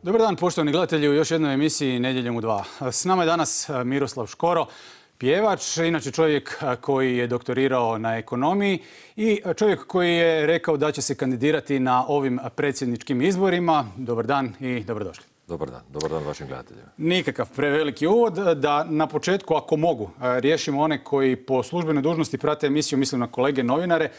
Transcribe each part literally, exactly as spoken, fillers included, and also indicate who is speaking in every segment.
Speaker 1: Dobar dan, poštovani gledatelji, u još jednoj emisiji Nedjeljom u dva. S nama je danas Miroslav Škoro, pjevač, inače čovjek koji je doktorirao na ekonomiji i čovjek koji je rekao da će se kandidirati na ovim predsjedničkim izborima. Dobar dan i dobrodošli.
Speaker 2: Dobar dan. Dobar dan vašim gledateljima.
Speaker 1: Nikakav preveliki uvod. Da na početku, ako mogu, riješimo one koji po službenoj dužnosti prate emisiju, mislim na kolege novinare,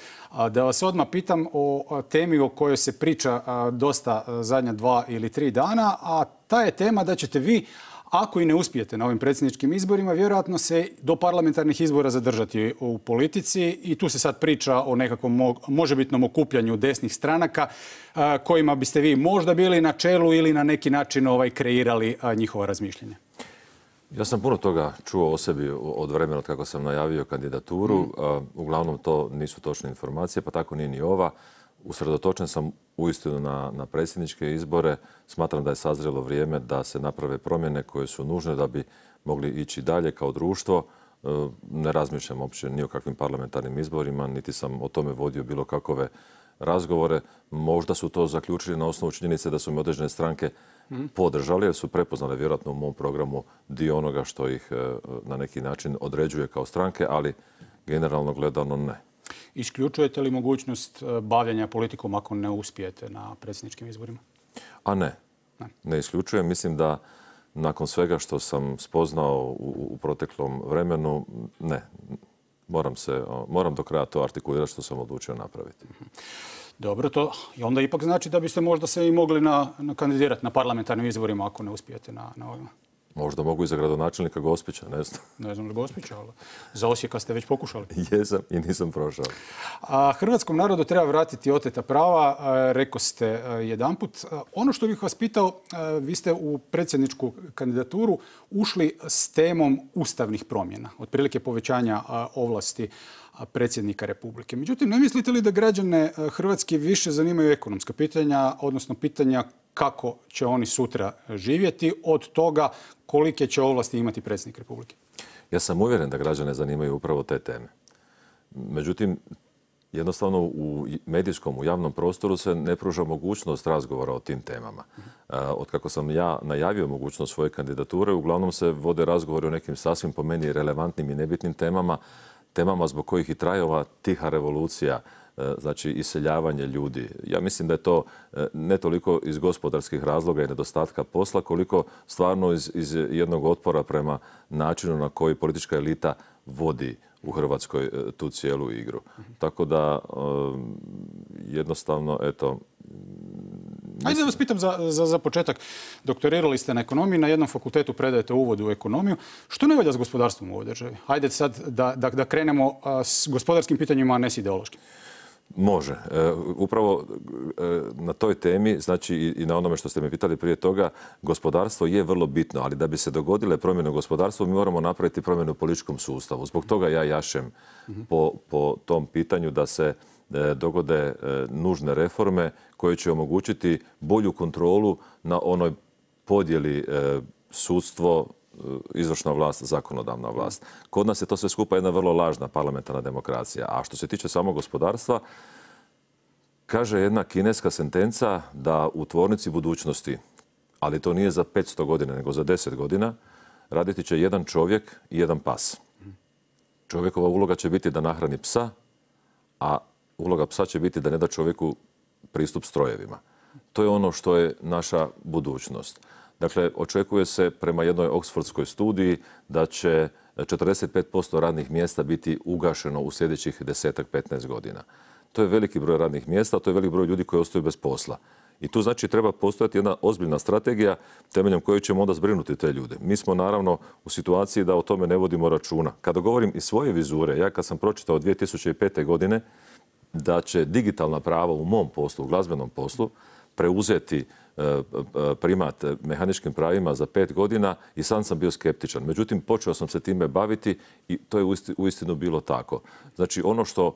Speaker 1: da vas odmah pitam o temi o kojoj se priča dosta zadnja dva ili tri dana, a ta je tema da ćete vi, ako i ne uspijete na ovim predsjedničkim izborima, vjerojatno se do parlamentarnih izbora zadržati u politici i tu se sad priča o nekakvom možebitnom okupljanju desnih stranaka kojima biste vi možda bili na čelu ili na neki način ovaj, kreirali njihova razmišljenja.
Speaker 2: Ja sam puno toga čuo o sebi od vremena od kako sam najavio kandidaturu. Mm. Uglavnom to nisu točne informacije, pa tako nije ni ova. Usredotočen sam uistinu na, na predsjedničke izbore. Smatram da je sazrelo vrijeme da se naprave promjene koje su nužne da bi mogli ići dalje kao društvo. Ne razmišljam uopće ni o kakvim parlamentarnim izborima, niti sam o tome vodio bilo kakove razgovore. Možda su to zaključili na osnovu činjenice da su mi određene stranke podržali, jer su prepoznali vjerojatno u mom programu dio onoga što ih na neki način određuje kao stranke, ali generalno gledano ne.
Speaker 1: Isključujete li mogućnost bavljenja politikom ako ne uspijete na predsjedničkim izborima?
Speaker 2: A ne. Ne, ne isključujem. Mislim da nakon svega što sam spoznao u, u proteklom vremenu, ne. Moram, se, moram do kraja to artikulirati što sam odlučio napraviti.
Speaker 1: Dobro, to onda ipak znači da biste možda se i mogli na, na kandidirati na parlamentarnim izborima ako ne uspijete na, na ovima.
Speaker 2: Možda mogu i za gradonačelnika Gospića, ne znam.
Speaker 1: Ne znam za Gospića, ali za Osijeka ste već pokušali.
Speaker 2: Jesam i nisam prošao.
Speaker 1: A hrvatskom narodu treba vratiti oteta prava, rekao ste jedanput. Ono što bih vas pitao, vi ste u predsjedničku kandidaturu ušli s temom ustavnih promjena, otprilike povećanja ovlasti predsjednika Republike. Međutim, ne mislite li da građane Hrvatske više zanimaju ekonomska pitanja, odnosno pitanja kako će oni sutra živjeti od toga kolike će ovlasti imati predsjednik Republike?
Speaker 2: Ja sam uvjeren da građane zanimaju upravo te teme. Međutim, jednostavno u medijskom, u javnom prostoru se ne pruža mogućnost razgovora o tim temama. Od kako sam ja najavio mogućnost svoje kandidature, uglavnom se vode razgovori o nekim sasvim po meni relevantnim i nebitnim temama, temama zbog kojih i traje ova tiha revolucija, znači iseljavanje ljudi. Ja mislim da je to ne toliko iz gospodarskih razloga i nedostatka posla, koliko stvarno iz, iz jednog otpora prema načinu na koji politička elita vodi u Hrvatskoj tu cijelu igru. Tako da jednostavno, eto... Mislim...
Speaker 1: Ajde da vas pitam za, za, za početak. Doktorirali ste na ekonomiji, na jednom fakultetu predajete uvod u ekonomiju. Što ne valja s gospodarstvom u ovoj državi? Ajde sad da, da, da krenemo s gospodarskim pitanjima, a ne s ideološkim.
Speaker 2: Može. E, upravo e, na toj temi, znači i, i na onome što ste me pitali prije toga, gospodarstvo je vrlo bitno, ali da bi se dogodile promjene u gospodarstvu, mi moramo napraviti promjenu u političkom sustavu. Zbog toga ja jašem mm-hmm. po, po tom pitanju da se e, dogode e, nužne reforme koje će omogućiti bolju kontrolu na onoj podjeli e, sudstvo, izvršna vlast, zakonodavna vlast. Kod nas je to sve skupa jedna vrlo lažna parlamentarna demokracija. A što se tiče samog gospodarstva, kaže jedna kineska sentenca da u tvornici budućnosti, ali to nije za petsto godina, nego za deset godina, raditi će jedan čovjek i jedan pas. Čovjekova uloga će biti da nahrani psa, a uloga psa će biti da ne da čovjeku pristup strojevima. To je ono što je naša budućnost. Dakle, očekuje se prema jednoj oksfordskoj studiji da će četrdeset pet posto radnih mjesta biti ugašeno u sljedećih desetak petnaest godina. To je veliki broj radnih mjesta, to je veliki broj ljudi koji ostaju bez posla. I tu znači treba postojati jedna ozbiljna strategija temeljem koje ćemo onda zbrinuti te ljude. Mi smo naravno u situaciji da o tome ne vodimo računa. Kada govorim iz svoje vizure, ja kad sam pročitao dvije tisuće pete. godine da će digitalna prava u mom poslu, u glazbenom poslu, preuzeti primat mehaničkim pravima za pet godina i sam sam bio skeptičan. Međutim, počeo sam se time baviti i to je uistinu bilo tako. Znači, ono što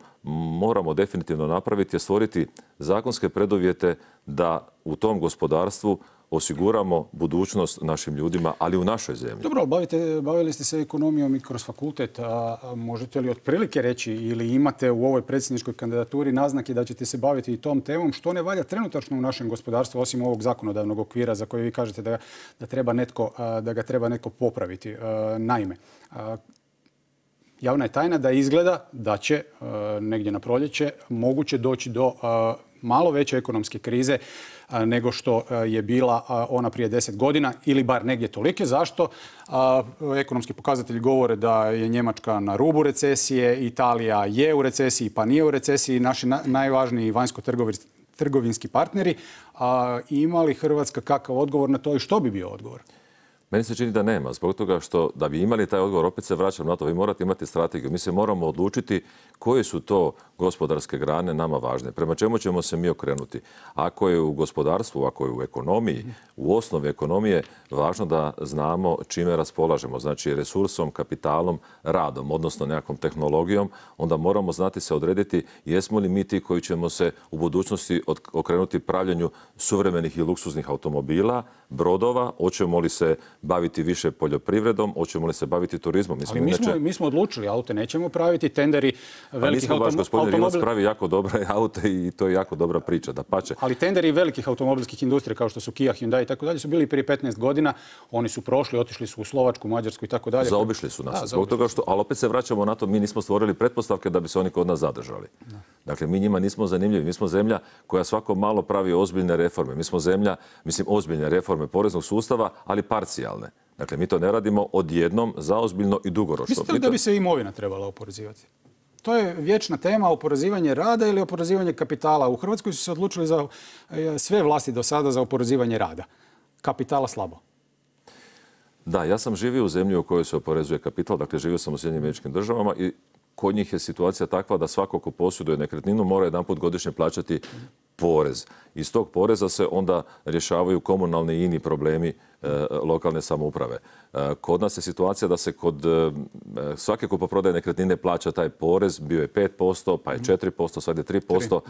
Speaker 2: moramo definitivno napraviti je stvoriti zakonske preduvjete da u tom gospodarstvu osiguramo budućnost našim ljudima, ali u našoj zemlji.
Speaker 1: Dobro, bavite, bavili ste se ekonomijom i kroz fakultet. A možete li otprilike reći ili imate u ovoj predsjedničkoj kandidaturi naznake da ćete se baviti i tom temom? Što ne valja trenutačno u našem gospodarstvu, osim ovog zakonodavnog okvira za koji vi kažete da, da, treba netko, da ga treba netko popraviti? Naime, javna je tajna da izgleda da će negdje na proljeće moguće doći do malo veće ekonomske krize nego što je bila ona prije deset godina ili bar negdje tolike. Zašto? Ekonomski pokazatelji govore da je Njemačka na rubu recesije, Italija je u recesiji pa nije u recesiji. Naši najvažniji vanjsko-trgovinski partneri. Ima li Hrvatska kakav odgovor na to i što bi bio odgovor?
Speaker 2: Meni se čini da nema, zbog toga što da bi imali taj odgovor, opet se vraćam na to, vi morate imati strategiju. Mi se moramo odlučiti koje su to gospodarske grane nama važne, prema čemu ćemo se mi okrenuti. Ako je u gospodarstvu, ako je u ekonomiji, u osnovi ekonomije važno da znamo čime raspolažemo, znači resursom, kapitalom, radom, odnosno nekakvom tehnologijom, onda moramo znati se odrediti jesmo li mi ti koji ćemo se u budućnosti okrenuti pravljenju suvremenih i luksuznih automobila, brodova, hoćemo li se baviti više poljoprivredom, hoćemo li se baviti turizmom.
Speaker 1: Mi smo, Ali mi smo, inače... mi smo odlučili, aute nećemo praviti, tenderi velikih
Speaker 2: automobilskih... Vaš gospodin Rimac pravi jako dobre aute i to je jako dobra priča, da pače.
Speaker 1: Ali tenderi velikih automobilskih industrija kao što su Kia, Hyundai i tako dalje su bili prije petnaest godina. Oni su prošli, otišli su u Slovačku, Mađarsku i tako dalje.
Speaker 2: Zaobišli su nas. Da, zbog toga što, ali opet se vraćamo na to, mi nismo stvorili pretpostavke da bi se oni kod nas zadržali. Da. Dakle, mi njima nismo zanimljivi. Mi smo zemlja koja svako malo pravi ozbiljne reforme. Mi smo zemlja, mislim, ozbiljne reforme poreznog sustava, ali parcijalne. Dakle, mi to ne radimo odjednom, zaozbiljno i dugoročno.
Speaker 1: Mislite li da bi se imovina trebala oporezivati? To je vječna tema, oporezivanje rada ili oporezivanje kapitala. U Hrvatskoj su se odlučili za sve vlasti do sada za oporezivanje rada. Kapitala slabo.
Speaker 2: Da, ja sam živio u zemlji u kojoj se oporezuje kapital, dakle živio sam u Sjedinjenim Američkim Državama i kod njih je situacija takva da svako ko posjeduje nekretninu mora jedanput godišnje plaćati porez. Iz tog poreza se onda rješavaju komunalni i ini problemi e, lokalne samouprave. E, kod nas je situacija da se kod e, svake kupoprodaje nekretnine plaća taj porez, bio je pet posto, pa je četiri posto, sad je tri posto.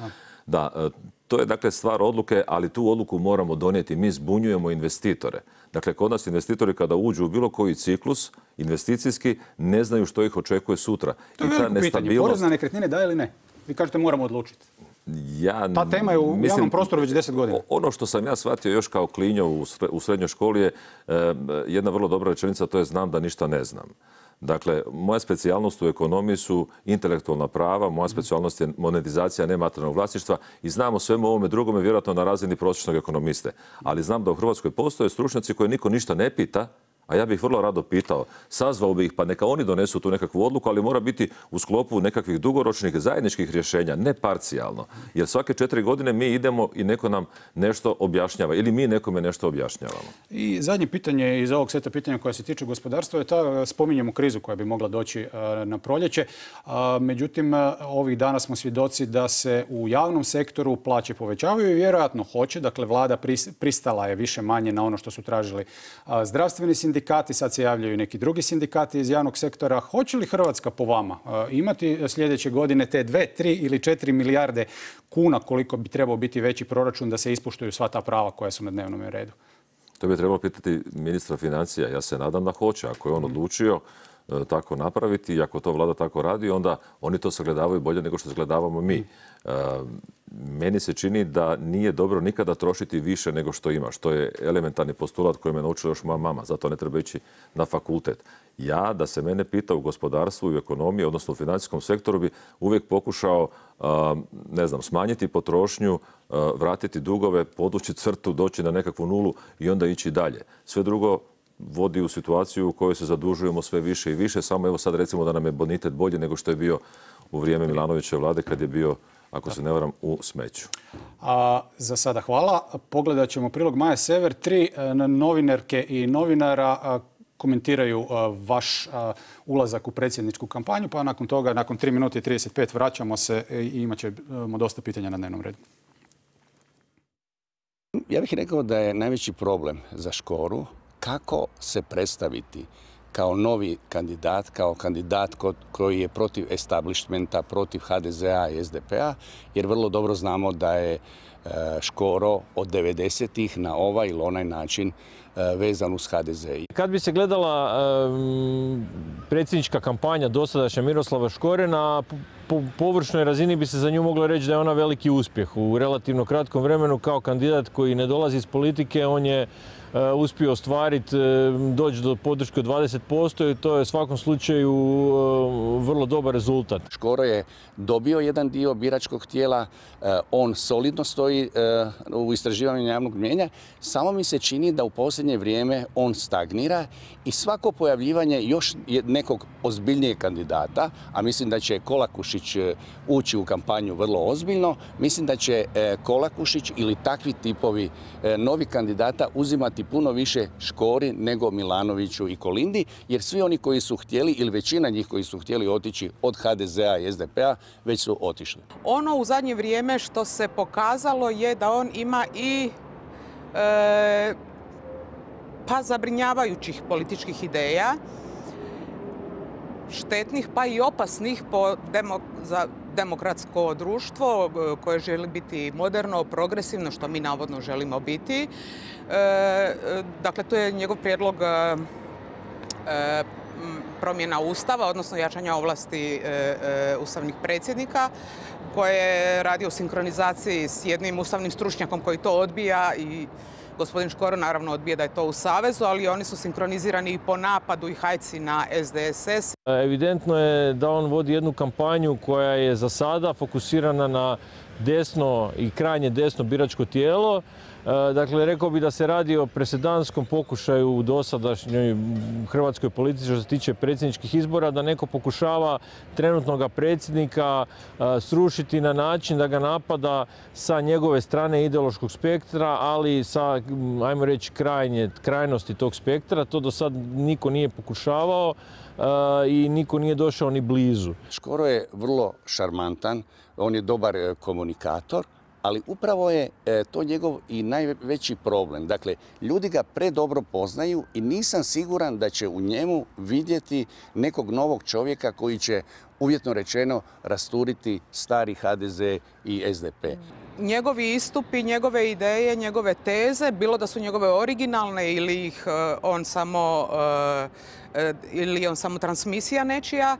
Speaker 2: Da, e, to je dakle stvar odluke, ali tu odluku moramo donijeti. Mi zbunjujemo investitore. Dakle, kod nas investitori kada uđu u bilo koji ciklus investicijski ne znaju što ih očekuje sutra.
Speaker 1: To je veliko pitanje. Porez na nekretnine da ili ne? Vi kažete moramo odlučiti.
Speaker 2: Ja,
Speaker 1: Ta tema je u mislim, javnom prostoru već deset godina.
Speaker 2: Ono što sam ja shvatio još kao klinjo u srednjoj školi je e, jedna vrlo dobra rečenica, to je znam da ništa ne znam. Dakle, moja specijalnost u ekonomiji su intelektualna prava, moja specijalnost je monetizacija nematerijalnog vlasništva i znam o svemu ovome drugome vjerojatno na razini prosječnog ekonomiste. Ali znam da u Hrvatskoj postoje stručnjaci koje niko ništa ne pita, a ja bih vrlo rado pitao, sazvao bih ih, pa neka oni donesu tu nekakvu odluku, ali mora biti u sklopu nekakvih dugoročnih zajedničkih rješenja, ne parcijalno. Jer svake četiri godine mi idemo i neko nam nešto objašnjava ili mi nekome nešto objašnjavamo.
Speaker 1: I zadnje pitanje iz ovog seta pitanja koja se tiče gospodarstva je ta, spominjemo krizu koja bi mogla doći na proljeće. Međutim, ovih dana smo svjedoci da se u javnom sektoru plaće povećavaju i vjerojatno hoće. Dakle, vlada pristala je više manje na ono što su tražili zdravstveni sindikati. Sindikati, sad se javljaju neki drugi sindikati iz javnog sektora. Hoće li Hrvatska po vama imati sljedeće godine te dve, tri ili četiri milijarde kuna koliko bi trebao biti veći proračun da se ispuštuju sva ta prava koja su na dnevnom redu?
Speaker 2: To bi trebalo pitati ministra financija. Ja se nadam da hoće. Ako je on odlučio tako napraviti i ako to vlada tako radi, onda oni to sagledavaju bolje nego što sagledavamo mi. E, meni se čini da nije dobro nikada trošiti više nego što imaš. To je elementarni postulat koji me naučila još moja mama. Zato ne treba ići na fakultet. Ja, da se mene pita u gospodarstvu i u ekonomiji, odnosno u financijskom sektoru, bi uvijek pokušao ne znam, smanjiti potrošnju, vratiti dugove, podući crtu, doći na nekakvu nulu i onda ići dalje. Sve drugo vodi u situaciju u kojoj se zadužujemo sve više i više. Samo evo sad recimo da nam je bonitet bolji nego što je bio u vrijeme Milanovićeve vlade kad je bio, ako se ne varam, u smeću.
Speaker 1: A, za sada hvala. Pogledat ćemo prilog Maje Sever. Tri novinarke i novinara a, komentiraju a, vaš a, ulazak u predsjedničku kampanju, pa nakon toga, nakon tri minute i trideset pet vraćamo se i imat ćemo dosta pitanja na dnevnom redu.
Speaker 3: Ja bih rekao da je najveći problem za Škoru kako se predstaviti kao novi kandidat, kao kandidat koji je protiv establishmenta, protiv ha de zea i es de pe a, jer vrlo dobro znamo da je Škoro od devedesetih na ovaj ili onaj način vezan uz ha de ze.
Speaker 4: Kad bi se gledala um, predsjednička kampanja dosadašnja Miroslava Škore, na po površnoj razini bi se za nju moglo reći da je ona veliki uspjeh. U relativno kratkom vremenu kao kandidat koji ne dolazi iz politike, on je uh, uspio ostvariti, uh, doći do podrške od dvadeset posto i to je u svakom slučaju uh, vrlo dobar rezultat.
Speaker 3: Škoro je dobio jedan dio biračkog tijela, uh, on solidno stoji uh, u istraživanju javnog mnijenja, samo mi se čini da u posljednje vrijeme on stagnira i svako pojavljivanje još nekog ozbiljnijeg kandidata, a mislim da će Kolakušić ući u kampanju vrlo ozbiljno, mislim da će Kolakušić ili takvi tipovi novi kandidata uzimati puno više Škori nego Milanoviću i Kolindi, jer svi oni koji su htjeli, ili većina njih koji su htjeli otići od ha de zea i es de pe a, već su otišli.
Speaker 5: Ono u zadnje vrijeme što se pokazalo je da on ima i e, pa zabrinjavajućih političkih ideja, štetnih pa i opasnih po demo, za demokratsko društvo koje želi biti moderno, progresivno, što mi navodno želimo biti. E, dakle, to je njegov prijedlog e, promjena Ustava, odnosno jačanja ovlasti e, e, ustavnih predsjednika, koje je radio u sinkronizaciji s jednim ustavnim stručnjakom koji to odbija i gospodin Škoro naravno odbija da je to u savezu, ali oni su sinkronizirani i po napadu i hajci na es de es es.
Speaker 4: Evidentno je da on vodi jednu kampanju koja je za sada fokusirana na desno i krajnje desno biračko tijelo. Dakle, rekao bih da se radi o presedanskom pokušaju u dosadašnjoj hrvatskoj politici što se tiče predsjedničkih izbora, da neko pokušava trenutnog predsjednika srušiti na način da ga napada sa njegove strane ideološkog spektra, ali sa, ajmo reći, krajnje, krajnosti tog spektra. To do sad niko nije pokušavao i niko nije došao ni blizu.
Speaker 3: Škoro je vrlo šarmantan, on je dobar komunikator, ali upravo je to njegov i najveći problem. Dakle, ljudi ga predobro poznaju i nisam siguran da će u njemu vidjeti nekog novog čovjeka koji će, uvjetno rečeno, rasturiti stari ha de ze i es de pe.
Speaker 5: Njegovi istupi, njegove ideje, njegove teze, bilo da su njegove originalne ili ih on samo, ili on samo transmisija nečija,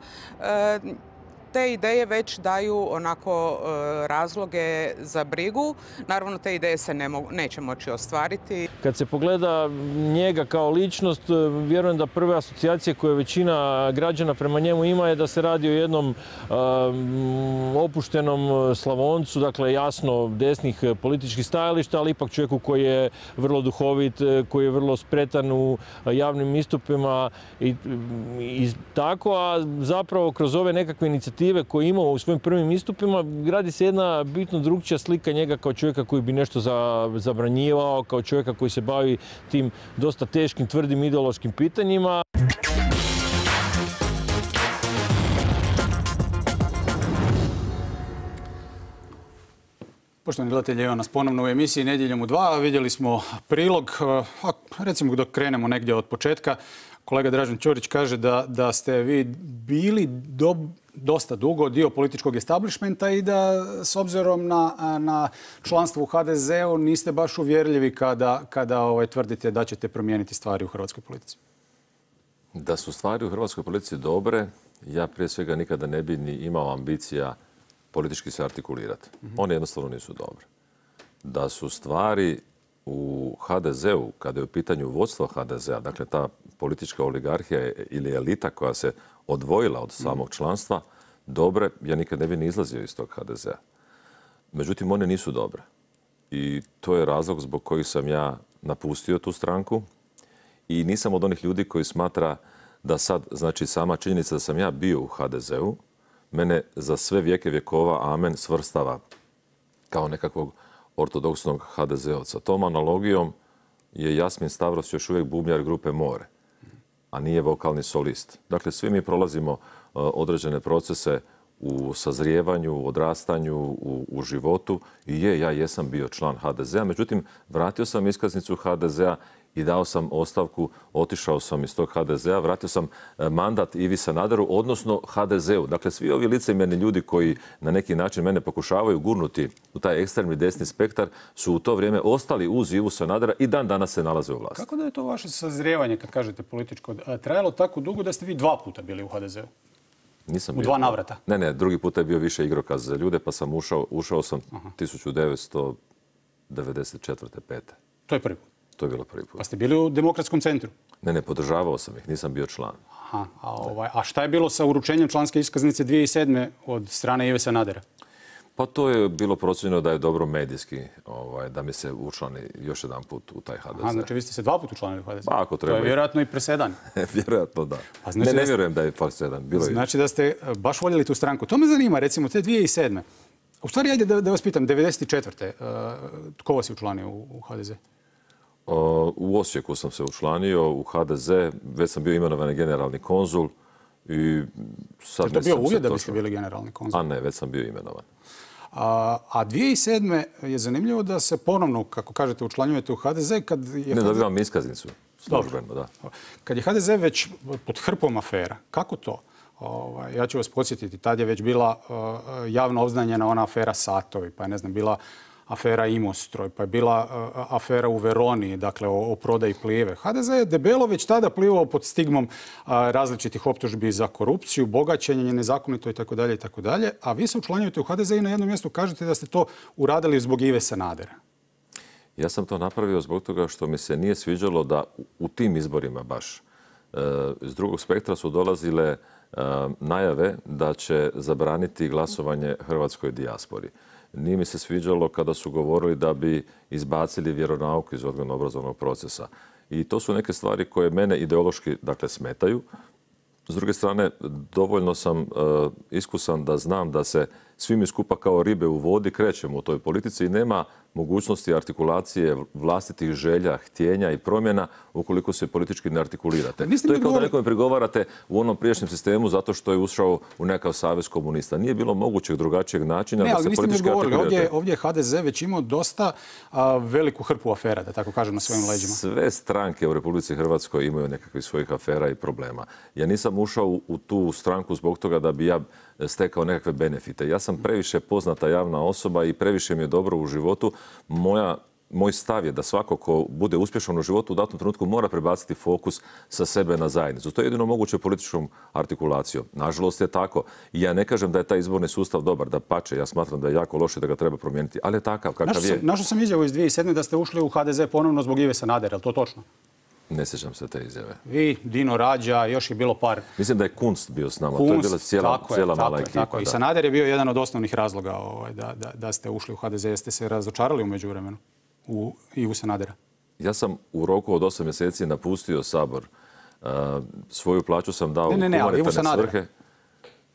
Speaker 5: te ideje već daju onako razloge za brigu. Naravno, te ideje se ne mogu, neće moći ostvariti.
Speaker 4: Kad se pogleda njega kao ličnost, vjerujem da prve asocijacije koje većina građana prema njemu ima je da se radi o jednom um, opuštenom Slavoncu, dakle jasno desnih političkih stajališta, ali ipak čovjeku koji je vrlo duhovit, koji je vrlo spretan u javnim istupima i, i tako, a zapravo kroz ove nekakve inicijative koje imao u svojim prvim istupima, gradi se jedna bitno drugčija slika njega kao čovjeka koji bi nešto zabranjivao, kao čovjeka koji se bavi tim dosta teškim, tvrdim ideološkim pitanjima.
Speaker 1: Poštovani gledatelji, evo nas ponovno u emisiji Nedjeljom u dva. Vidjeli smo prilog, recimo dok krenemo negdje od početka. Kolega Dražen Ćorić kaže da, da ste vi bili do, dosta dugo dio političkog establishmenta i da s obzirom na, na članstvo u ha de zeu niste baš uvjerljivi kada, kada ovaj, tvrdite da ćete promijeniti stvari u hrvatskoj politici.
Speaker 2: Da su stvari u hrvatskoj politici dobre, ja prije svega nikada ne bi ni imao ambicija politički se artikulirati. Mm-hmm. One jednostavno nisu dobre. Da su stvari u ha de zeu, kada je u pitanju vodstvo ha de zea, dakle ta politička oligarhija ili elita koja se odvojila od samog članstva, dobre, ja nikad ne bi ni izlazio iz tog ha de zea. Međutim, one nisu dobre. I to je razlog zbog kojih sam ja napustio tu stranku i nisam od onih ljudi koji smatra da sad, znači sama činjenica da sam ja bio u ha de zeu, mene za sve vijeke vjekova, amen, svrstava kao nekakvog ortodoksnog ha de zeovca. Tom analogijom je Jasmin Stavros još uvijek bubnjar grupe More, a nije vokalni solist. Dakle, svi mi prolazimo uh, određene procese u sazrijevanju, u odrastanju, u, u životu. I je, ja jesam bio član ha de zea, međutim, vratio sam iskaznicu ha de zea i dao sam ostavku, otišao sam iz tog H D Z-a, vratio sam mandat Ivi Sanaderu, odnosno H D Z-u. Dakle, svi ovi licemjerni ljudi koji na neki način mene pokušavaju gurnuti u taj ekstremni desni spektar su u to vrijeme ostali uz Ivu Sanadera i dan danas se nalaze u vlasti.
Speaker 1: Kako da je to vaše sazrijevanje, kad kažete političko, trajalo tako dugo da ste vi dva puta bili u H D Z-u?
Speaker 2: Nisam
Speaker 1: u dva navrata?
Speaker 2: Ne, ne, drugi puta je bio više igrokaz za ljude, pa sam ušao, ušao sam
Speaker 1: Aha.
Speaker 2: tisuću devetsto devedeset četvrte. pete.
Speaker 1: To je prvi put?
Speaker 2: To je bilo prvi put.
Speaker 1: Pa ste bili u Demokratskom centru?
Speaker 2: Ne, ne, podržavao sam ih, nisam bio član.
Speaker 1: Aha, a, ovaj, a šta je bilo sa uručenjem članske iskaznice dvije tisuće sedme. od strane Ive Sanadera?
Speaker 2: Pa to je bilo procijenjeno da je dobro medijski, ovaj, da mi se učlani još jedan put u taj H D Z.
Speaker 1: Aha, znači vi ste se dva puta učlanili u H D Z?
Speaker 2: Pa ako treba.
Speaker 1: To je vjerojatno i presedan.
Speaker 2: Vjerojatno da.
Speaker 1: Pa znači
Speaker 2: ne, ne
Speaker 1: da ste...
Speaker 2: vjerujem da je presedan. Bilo
Speaker 1: znači da ste baš voljeli tu stranku. To me zanima, recimo, te dvije tisuće sedme. U stvari, ajde da, da vas pitam, devedeset četvrte. Uh, tko vas je učlanio u, u H D Z?
Speaker 2: Uh, u Osijeku sam se učlanio, u H D Z, već sam bio imenovan generalni konzul. I sad
Speaker 1: je to bio uvjet da biste bili generalni konzul?
Speaker 2: A ne, već sam bio imenovan.
Speaker 1: A, a dvije tisuće sedme. je zanimljivo da se ponovno, kako kažete, učlanjujete u H D Z kad je...
Speaker 2: Ne, dobivam iskaznicu službeno, da.
Speaker 1: Kad je H D Z već pod hrpom afera, kako to? Ovaj, ja ću vas podsjetiti, tad je već bila uh, javno obznanjena ona afera Satovi, pa je, ne znam, bila afera Imostroj, pa je bila uh, afera u Veroni, dakle o, o prodaji Plive. H D Z je debelo već tada plivao pod stigmom uh, različitih optužbi za korupciju, bogaćenje, nezakonito itd. itd. A vi se učlanjujete u H D Z i na jednom mjestu kažete da ste to uradili zbog Ive Sanadera.
Speaker 2: Ja sam to napravio zbog toga što mi se nije sviđalo da u tim izborima baš uh, iz drugog spektra su dolazile uh, najave da će zabraniti glasovanje hrvatskoj dijaspori. Nije mi se sviđalo kada su govorili da bi izbacili vjeronauku iz odgojno-obrazovnog procesa. I to su neke stvari koje mene ideološki, dakle, smetaju. S druge strane, dovoljno sam uh, iskusan da znam da se svi mi skupa kao ribe u vodi krećemo u toj politici i nema mogućnosti artikulacije vlastitih želja, htjenja i promjena ukoliko se politički ne artikulirate. To je kao da nekome prigovarate u onom prijašnjem sistemu zato što je ušao u nekakav savez komunista. Nije bilo mogućeg drugačijeg načina
Speaker 1: ne,
Speaker 2: da se politički artikulirate.
Speaker 1: Ovdje, ovdje je H D Z već imao dosta a, veliku hrpu afera, da tako kažem, na svojim leđima.
Speaker 2: Sve stranke u Republici Hrvatskoj imaju nekakvih svojih afera i problema. Ja nisam ušao u, u tu stranku zbog toga da bi ja stekao nekakve benefite. Ja sam previše poznata javna osoba i previše mi je dobro u životu. Moja, moj stav je da svako ko bude uspješan u životu u datom trenutku mora prebaciti fokus sa sebe na zajednicu. To je jedino moguće političkom artikulacijom. Nažalost je tako. I ja ne kažem da je taj izborni sustav dobar, da pače. Ja smatram da je jako loše da ga treba promijeniti. Ali je takav kakav je.
Speaker 1: Našao sam izjavu iz dvije tisuće sedme. da ste ušli u H D Z ponovno zbog Ive Sanadera. Je li to točno?
Speaker 2: Ne sjećam se te izjave.
Speaker 1: Vi, Dino Rađa, još je bilo par...
Speaker 2: Mislim da je Kunst bio s nama.
Speaker 1: Kunst,
Speaker 2: to je bila cijela,
Speaker 1: tako
Speaker 2: cijela
Speaker 1: je,
Speaker 2: mala
Speaker 1: tako
Speaker 2: ekipa.
Speaker 1: Je, tako. I Sanader je bio jedan od osnovnih razloga ovaj, da, da, da ste ušli u H D Z. Jeste se razočarali u međuvremenu u Ivu Sanadera?
Speaker 2: Ja sam u roku od osam mjeseci napustio Sabor. Uh, svoju plaću sam dao
Speaker 1: ne, ne, ne,
Speaker 2: u humanitarne svrhe.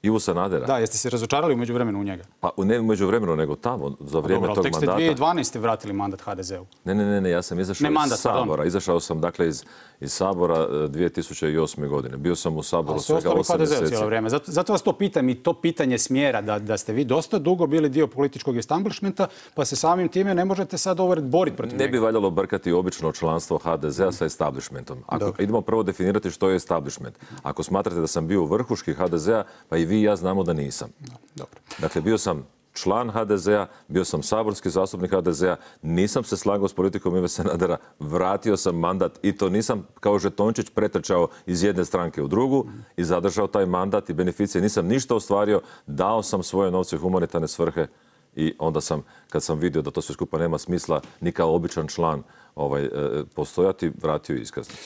Speaker 2: Ivu Sanadera?
Speaker 1: Da, jeste se razočarali u međuvremenu u njega?
Speaker 2: Pa ne u međuvremenu, nego tamo, za vrijeme
Speaker 1: dobro,
Speaker 2: tog
Speaker 1: mandata. Tek ste
Speaker 2: mandata.
Speaker 1: dvije tisuće dvanaeste. vratili mandat H D Z-u.
Speaker 2: Ne, ne, ne, ne, ja sam izašao
Speaker 1: ne, mandat,
Speaker 2: iz Sabora.
Speaker 1: Pardon.
Speaker 2: Izašao sam, dakle, iz, iz Sabora dvije tisuće osme. godine. Bio sam u Saboru svega
Speaker 1: osam
Speaker 2: osam
Speaker 1: mjeseci.
Speaker 2: mjeseci.
Speaker 1: Cijelo vrijeme. Zato, zato vas to pitam i to pitanje smjera da, da ste vi dosta dugo bili dio političkog establishmenta, pa se samim time ne možete sad ovo boriti protiv
Speaker 2: Ne
Speaker 1: njega.
Speaker 2: bi valjalo brkati obično članstvo H D Z-a sa establishmentom. Ako idemo prvo definirati što je establishment. Ako smatrate da sam bio u vrhuški H D Z-a, pa i vi i ja znamo da nisam.
Speaker 1: Dobro.
Speaker 2: Dakle, bio sam član H D Z-a, bio sam saborski zastupnik H D Z-a, nisam se slagao s politikom Ive Sanadera, vratio sam mandat i to nisam kao žetončić pretrčao iz jedne stranke u drugu i zadržao taj mandat i beneficije. Nisam ništa ostvario, dao sam svoje novce u humanitarne svrhe i onda sam, kad sam vidio da to sve skupa nema smisla, ni kao običan član ovaj, postojati, vratio iskaznicu.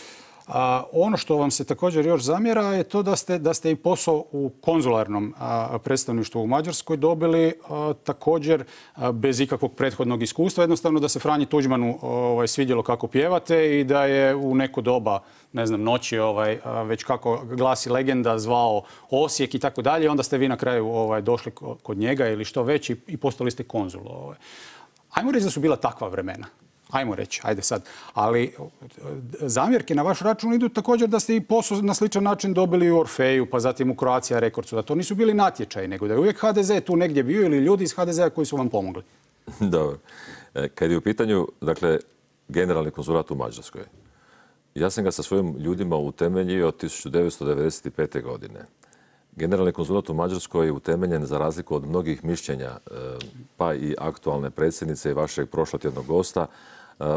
Speaker 1: A, ono što vam se također još zamjera je to da ste, da ste i posao u konzularnom a, predstavništvu u Mađarskoj dobili a, također a, bez ikakvog prethodnog iskustva. Jednostavno da se Franji Tuđmanu ovaj, svidjelo kako pjevate i da je u neko doba, ne znam, noći, ovaj, a, već kako glasi legenda, zvao Osijek i tako dalje. Onda ste vi na kraju ovaj, došli kod njega ili što već i, i postali ste konzul. Ovaj. Ajmo reći da su bila takva vremena. Ajmo reći, ajde sad. Ali zamjerke na vaš račun idu također da ste i posao na sličan način dobili u Orfeju, pa zatim u Croatia Recordsu. Da to nisu bili natječaji, nego da je uvijek H D Z tu negdje bio ili ljudi iz H D Z-a koji su vam pomogli.
Speaker 2: Dobro. Kad je u pitanju, dakle, generalni konzulat u Mađarskoj, Ja sam ga sa svojim ljudima utemeljio tisuću devetsto devedeset pete. godine. Generalni konzulat u Mađarskoj je utemeljen za razliku od mnogih mišljenja, pa i aktualne predsjednice i vašeg prošlotjednog gosta,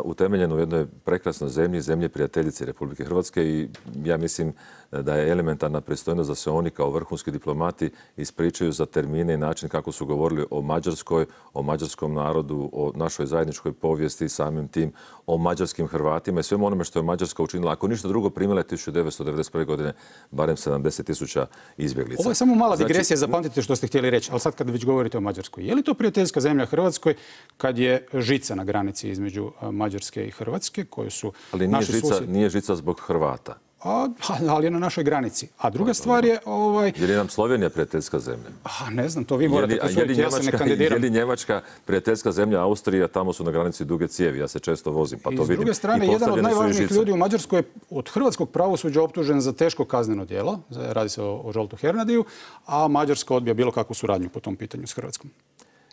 Speaker 2: utemeljen u jednoj prekrasnoj zemlji, zemlji prijateljice Republike Hrvatske i ja mislim da je elementarna pristojnost da se oni kao vrhunski diplomati ispričaju za termine i način kako su govorili o Mađarskoj, o mađarskom narodu, o našoj zajedničkoj povijesti, samim tim o mađarskim Hrvatima i svemu onome što je Mađarska učinila. Ako ništa drugo, primila je tisuću devetsto devedeset prve. godine barem sedamdeset tisuća izbjeglica.
Speaker 1: Ovo je samo mala digresija, zapamtite što ste htjeli reći, ali sad kad već govorite o Mađarskoj. Je li to prijateljska zemlja Hrvatskoj kad je žica na granici između Mađarske i Hrvatske, koje su
Speaker 2: ali nije
Speaker 1: naši
Speaker 2: žica,
Speaker 1: susjedi?
Speaker 2: nije žica zbog Hrvata.
Speaker 1: A, ali je na našoj granici. A druga stvar je... Ovaj...
Speaker 2: Je li nam Slovenija prijateljska zemlja?
Speaker 1: A, ne znam, to vi morate posuditi, ja se ne
Speaker 2: Je
Speaker 1: kandidiram.
Speaker 2: li Njemačka prijateljska zemlja? Austrija, tamo su na granici duge cijevi, ja se često vozim, pa to
Speaker 1: I
Speaker 2: vidim.
Speaker 1: s druge strane, jedan od najvažnijih ljudi u Mađarskoj je od hrvatskog pravosuđa optužen za teško kazneno djelo. Radi se o, o Žoltu Hernadiju, a Mađarska odbija bilo kakvu suradnju po tom pitanju s Hrvatskom.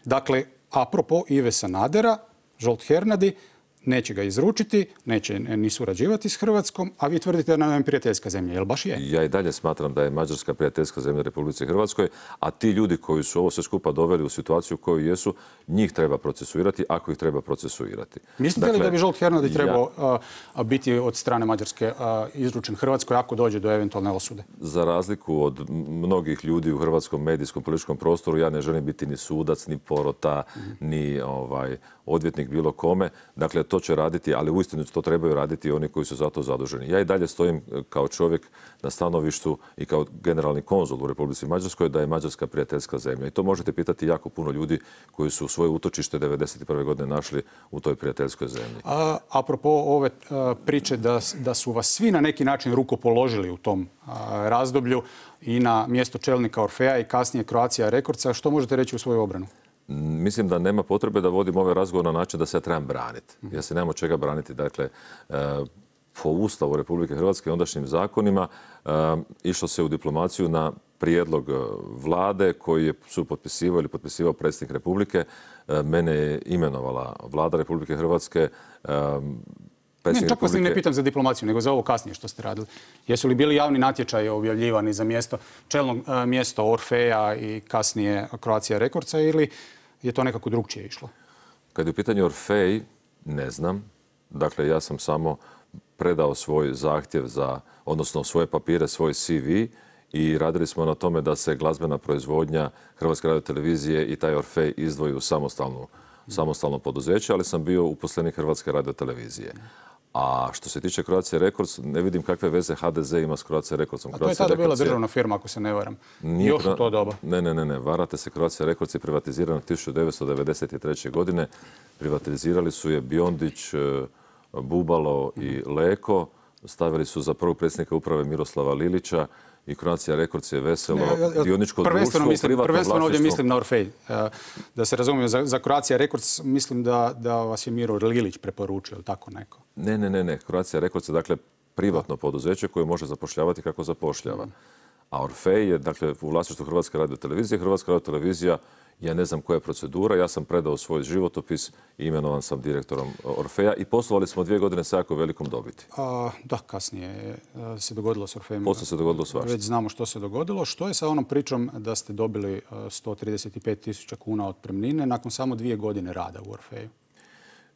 Speaker 1: Dakle, apropo Ive Sanadera, Žolt Hernadi neće ga izručiti, neće ni surađivati s Hrvatskom, a vi tvrdite da nam je prijateljska zemlja. Jel baš je?
Speaker 2: Ja i dalje smatram da je Mađarska prijateljska zemlja Republici Hrvatskoj, a ti ljudi koji su ovo sve skupa doveli u situaciju u kojoj jesu, njih treba procesuirati ako ih treba procesuirati.
Speaker 1: Mislite
Speaker 2: dakle,
Speaker 1: li da bi Žolt Hernadi trebao
Speaker 2: ja,
Speaker 1: a, biti od strane Mađarske a, izručen Hrvatskoj ako dođe do eventualne osude?
Speaker 2: Za razliku od mnogih ljudi u hrvatskom medijskom političkom prostoru, ja ne želim biti ni sudac, ni porota, mm. ni ovaj, odvjetnik bilo kome. Dakle, to će raditi, ali uistinu to trebaju raditi oni koji su za to zaduženi. Ja i dalje stojim kao čovjek na stanovištu i kao generalni konzul u Republici Mađarskoj da je Mađarska prijateljska zemlja. I to možete pitati jako puno ljudi koji su svoje utočište devedeset prve. godine našli u toj prijateljskoj zemlji.
Speaker 1: A, apropo ove a, priče da, da su vas svi na neki način rukopoložili u tom a, razdoblju i na mjesto čelnika Orfeja i kasnije Croatia Recordsa, što možete reći u svoju obranu?
Speaker 2: Mislim da nema potrebe da vodim ovaj razgovor na način da se ja trebam braniti. Ja se nemam od čega braniti. Dakle, po Ustavu Republike Hrvatske i ondašnjim zakonima išlo se u diplomaciju na prijedlog vlade koji su potpisivao ili potpisivao predsjednik Republike. Mene je imenovala vlada Republike Hrvatske.
Speaker 1: Ne, čak vas ne pitam za diplomaciju, nego za ovo kasnije što ste radili. Jesu li bili javni natječaji objavljivani za mjesto, čelno mjesto Orfeja i kasnije Croatia Recordsa ili je to nekako drugčije išlo?
Speaker 2: Kad je u pitanju Orfej, ne znam. Dakle, ja sam samo predao svoj zahtjev za, odnosno svoje papire, svoj C V i radili smo na tome da se glazbena proizvodnja Hrvatske radiotelevizije i taj Orfej izdvoji u samostalnu, samostalno poduzeće, ali sam bio uposlenik Hrvatske radiotelevizije. A što se tiče Croatia Records, ne vidim kakve veze H D Z ima s Croatia Recordsom.
Speaker 1: A to je tada bila državna firma, ako se ne varam. Još u to doba.
Speaker 2: Ne, ne, ne, ne. Varate se. Croatia Records je privatizirana tisuću devetsto devedeset treće. godine. Privatizirali su je Biondić, Bubalo i Leko. Stavili su za prvog predsjednika uprave Miroslava Lilića. I Croatia Records je veselo dioničko društvo u privatnom
Speaker 1: prvenstveno ovdje mislim na Orfej. Da se razumijem, za, za Croatia Records mislim da, da vas je Miro Lilić preporučio, ili tako neko?
Speaker 2: Ne, ne, ne, ne. Croatia Records je dakle privatno poduzeće koje može zapošljavati kako zapošljava. A Orfej je dakle u vlasništvu Hrvatske radiotelevizije. Hrvatska radiotelevizija, ja ne znam koja je procedura, ja sam predao svoj životopis i imenovan sam direktorom Orfeja i poslovali smo dvije godine sa jako velikom dobiti.
Speaker 1: A, da, kasnije se dogodilo s Orfejem.
Speaker 2: Poslije se dogodilo svašta.
Speaker 1: Već znamo što se dogodilo. Što je sa onom pričom da ste dobili sto trideset pet tisuća kuna otpremnine nakon samo dvije godine rada u Orfeju?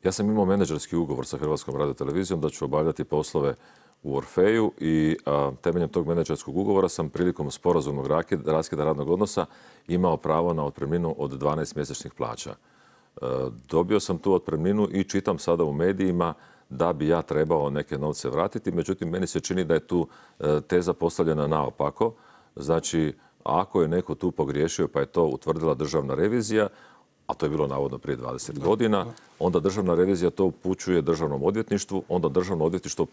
Speaker 1: Ja
Speaker 2: sam imao menadžerski ugovor sa Hrvatskom radiotelevizijom da ću obavljati poslove u Orfeju i a, temeljem tog menadžerskog ugovora sam prilikom sporazumnog raskida radnog odnosa imao pravo na otpremninu od dvanaest mjesečnih plaća. E, dobio sam tu otpremninu i čitam sada u medijima da bi ja trebao neke novce vratiti. Međutim, meni se čini da je tu e, teza postavljena naopako. Znači, ako je neko tu pogriješio pa je to utvrdila državna revizija, a to je bilo navodno prije dvadeset godina, onda državna revizija to upućuje državnom odvjetništvu, onda državno odvjetništvo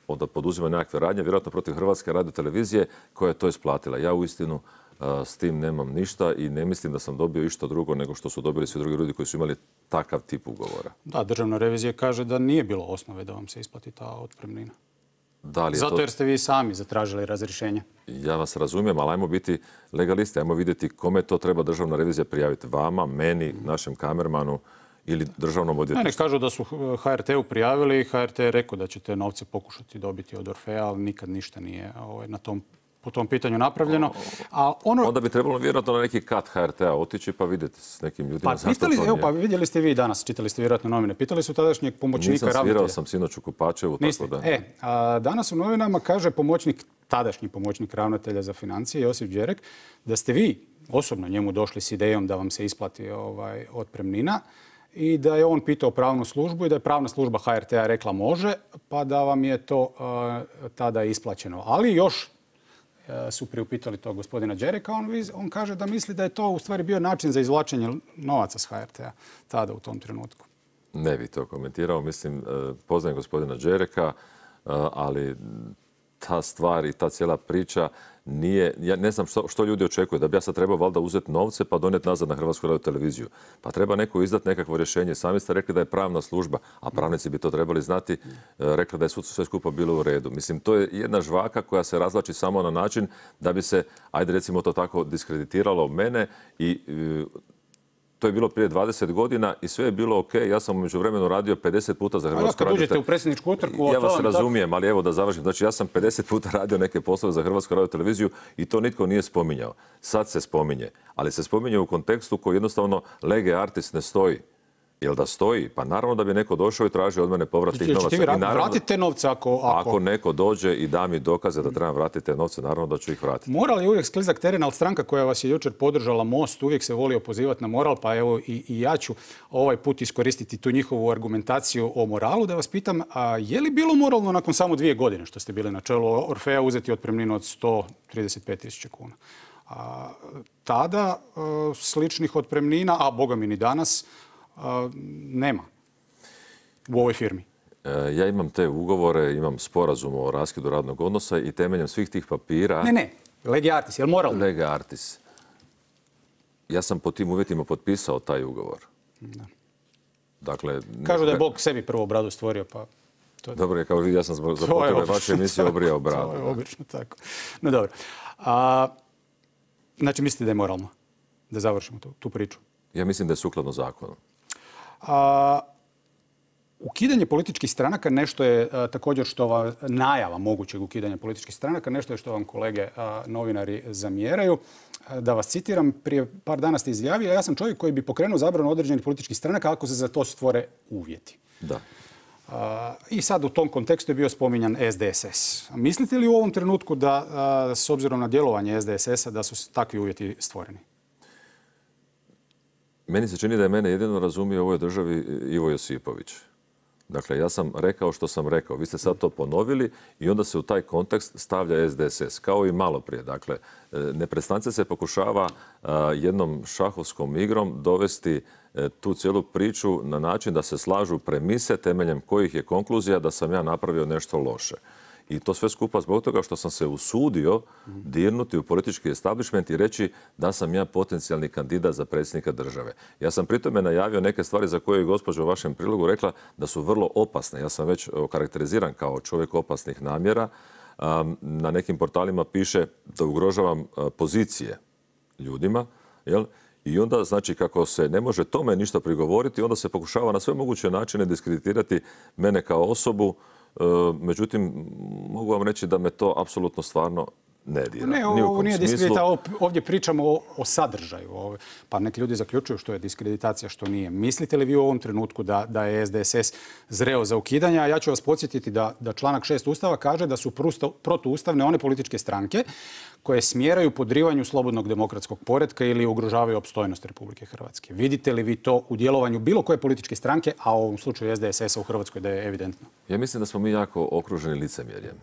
Speaker 2: onda poduzima nekakve radnje, vjerojatno protiv Hrvatske radiotelevizije koja je to isplatila. Ja uistinu uh, s tim nemam ništa i ne mislim da sam dobio išta drugo nego što su dobili svi drugi ljudi koji su imali takav tip ugovora.
Speaker 1: Da, državna revizija kaže da nije bilo osnove da vam se isplati ta otpremnina.
Speaker 2: Da li je
Speaker 1: Zato
Speaker 2: to...
Speaker 1: jer ste vi sami zatražili razrješenje.
Speaker 2: Ja vas razumijem, ali ajmo biti legalisti, ajmo vidjeti kome to treba državna revizija prijaviti. Vama, meni, našem kamermanu ili državnom odvjetništvu.
Speaker 1: Ne, kažu da su H R T-u prijavili i H R T je rekao da će te novce pokušati dobiti od Orfea, ali nikad ništa nije na tom po tom pitanju napravljeno.
Speaker 2: A ono... Onda bi trebalo vjerojatno na neki kat H R T-a otići pa vidjeti s nekim ljudima.
Speaker 1: Pa, pitali, evo, pa vidjeli ste vi danas, čitali ste vjerojatno novine, pitali su tadašnjeg pomoćnika ravnatelja.
Speaker 2: Nisam svirao sam sinoć u Kupačevu.
Speaker 1: Tako da... E, a danas u novinama kaže pomoćnik, tadašnji pomoćnik ravnatelja za financije, Josip Đerek, da ste vi osobno njemu došli s idejom da vam se isplati ovaj, otpremnina i da je on pitao pravnu službu i da je pravna služba H R T-a rekla može, pa da vam je to uh, tada isplaćeno. Ali još su priupitali to gospodina Đereka, on, on kaže da misli da je to u stvari bio način za izvlačenje novaca s H R T-a tada u tom trenutku.
Speaker 2: Ne bi to komentirao. Mislim, poznajem gospodina Đereka, ali ta stvar i ta cijela priča nije, ja ne znam što, što ljudi očekuju, da bi ja sad trebao valjda uzeti novce pa donijeti nazad na Hrvatsku radioteleviziju. Pa treba neko izdati nekakvo rješenje. Sami ste rekli da je pravna služba, a pravnici bi to trebali znati, rekli da je sve skupa bilo u redu. Mislim, to je jedna žvaka koja se razvlači samo na način da bi se, ajde recimo to tako, diskreditiralo mene i to je bilo prije dvadeset godina i sve je bilo ok. Ja sam u međuvremenu radio pedeset puta za Hrvatsku radioteleviziju.
Speaker 1: Kad uđete u predsjedničku utrku...
Speaker 2: Ja vas razumijem, ali evo da završim. Znači, ja sam pedeset puta radio neke poslove za Hrvatsku radioteleviziju i to nitko nije spominjao. Sad se spominje, ali se spominje u kontekstu koji jednostavno lege artis ne stoji. Jel da stoji? Pa naravno da bi neko došao i tražio od mene povrat tih novaca.
Speaker 1: Ćete vi vratiti te novce ako...
Speaker 2: Ako neko dođe i da mi dokaze da trebam vratiti te novce, naravno da ću ih vratiti.
Speaker 1: Moral je uvijek sklizak teren, ali stranka koja vas je jučer podržala, Most, uvijek se volio pozivati na moral, pa evo i, i ja ću ovaj put iskoristiti tu njihovu argumentaciju o moralu, da vas pitam, a je li bilo moralno nakon samo dvije godine što ste bili na čelu Orfea uzeti otpremninu od sto trideset pet tisuća kuna? A, tada a, sličnih otpremnina, a boga mi ni danas, nema u ovoj firmi.
Speaker 2: Ja imam te ugovore, imam sporazum o raskidu radnog odnosa i temeljem svih tih papira...
Speaker 1: Ne, ne, lege artis, je li moralno?
Speaker 2: Lege artis. Ja sam po tim uvjetima potpisao taj ugovor. Da. Dakle...
Speaker 1: Kažu da je Bog sebi prvo bradu stvorio, pa...
Speaker 2: To... Dobro je, kao vidi, ja sam za potrebe vaše emisije obrijao bradu.
Speaker 1: To je obično tako. No dobro. A, znači, mislite da je moralno? Da završimo tu, tu priču?
Speaker 2: Ja mislim da je sukladno zakonu.
Speaker 1: A, ukidanje političkih stranaka nešto je a, također što vam najava mogućeg ukidanja političkih stranaka, nešto je što vam kolege a, novinari zamjeraju. A, da vas citiram, prije par dana ste izjavili, ja sam čovjek koji bi pokrenuo zabranu određenih političkih stranaka ako se za to stvore uvjeti.
Speaker 2: Da.
Speaker 1: A, I sad u tom kontekstu je bio spominjan S D S S. Mislite li u ovom trenutku da, a, s obzirom na djelovanje S D S S-a, da su takvi uvjeti stvoreni?
Speaker 2: Meni se čini da je mene jedino razumio u ovoj državi Ivo Josipović. Dakle, ja sam rekao što sam rekao. Vi ste sad to ponovili i onda se u taj kontekst stavlja S D S S, kao i malo prije. Dakle, neprestance se pokušava jednom šahovskom igrom dovesti tu cijelu priču na način da se slažu premise temeljem kojih je konkluzija da sam ja napravio nešto loše. I to sve skupa zbog toga što sam se usudio dirnuti u politički establishment i reći da sam ja potencijalni kandidat za predsjednika države. Ja sam pritome najavio neke stvari za koje je gospođa u vašem prilogu rekla da su vrlo opasne. Ja sam već karakteriziran kao čovjek opasnih namjera. Na nekim portalima piše da ugrožavam pozicije ljudima. Jel? I onda, znači, kako se ne može tome ništa prigovoriti, onda se pokušava na sve moguće načine diskreditirati mene kao osobu. Međutim, mogu vam reći da me to apsolutno stvarno ne dira.
Speaker 1: Ne, ovo nije diskreditacija, ovdje pričamo o, o sadržaju. Pa neki ljudi zaključuju što je diskreditacija, što nije. Mislite li vi u ovom trenutku da, da je S D S S zreo za ukidanje? A ja ću vas podsjetiti da, da članak šest Ustava kaže da su protuustavne one političke stranke koje smjeraju podrivanju slobodnog demokratskog poretka ili ugrožavaju opstojnost Republike Hrvatske. Vidite li vi to u djelovanju bilo koje političke stranke, a u ovom slučaju S D S S-a u Hrvatskoj da je evidentno?
Speaker 2: Ja mislim da smo mi jako okruženi licemjerjem.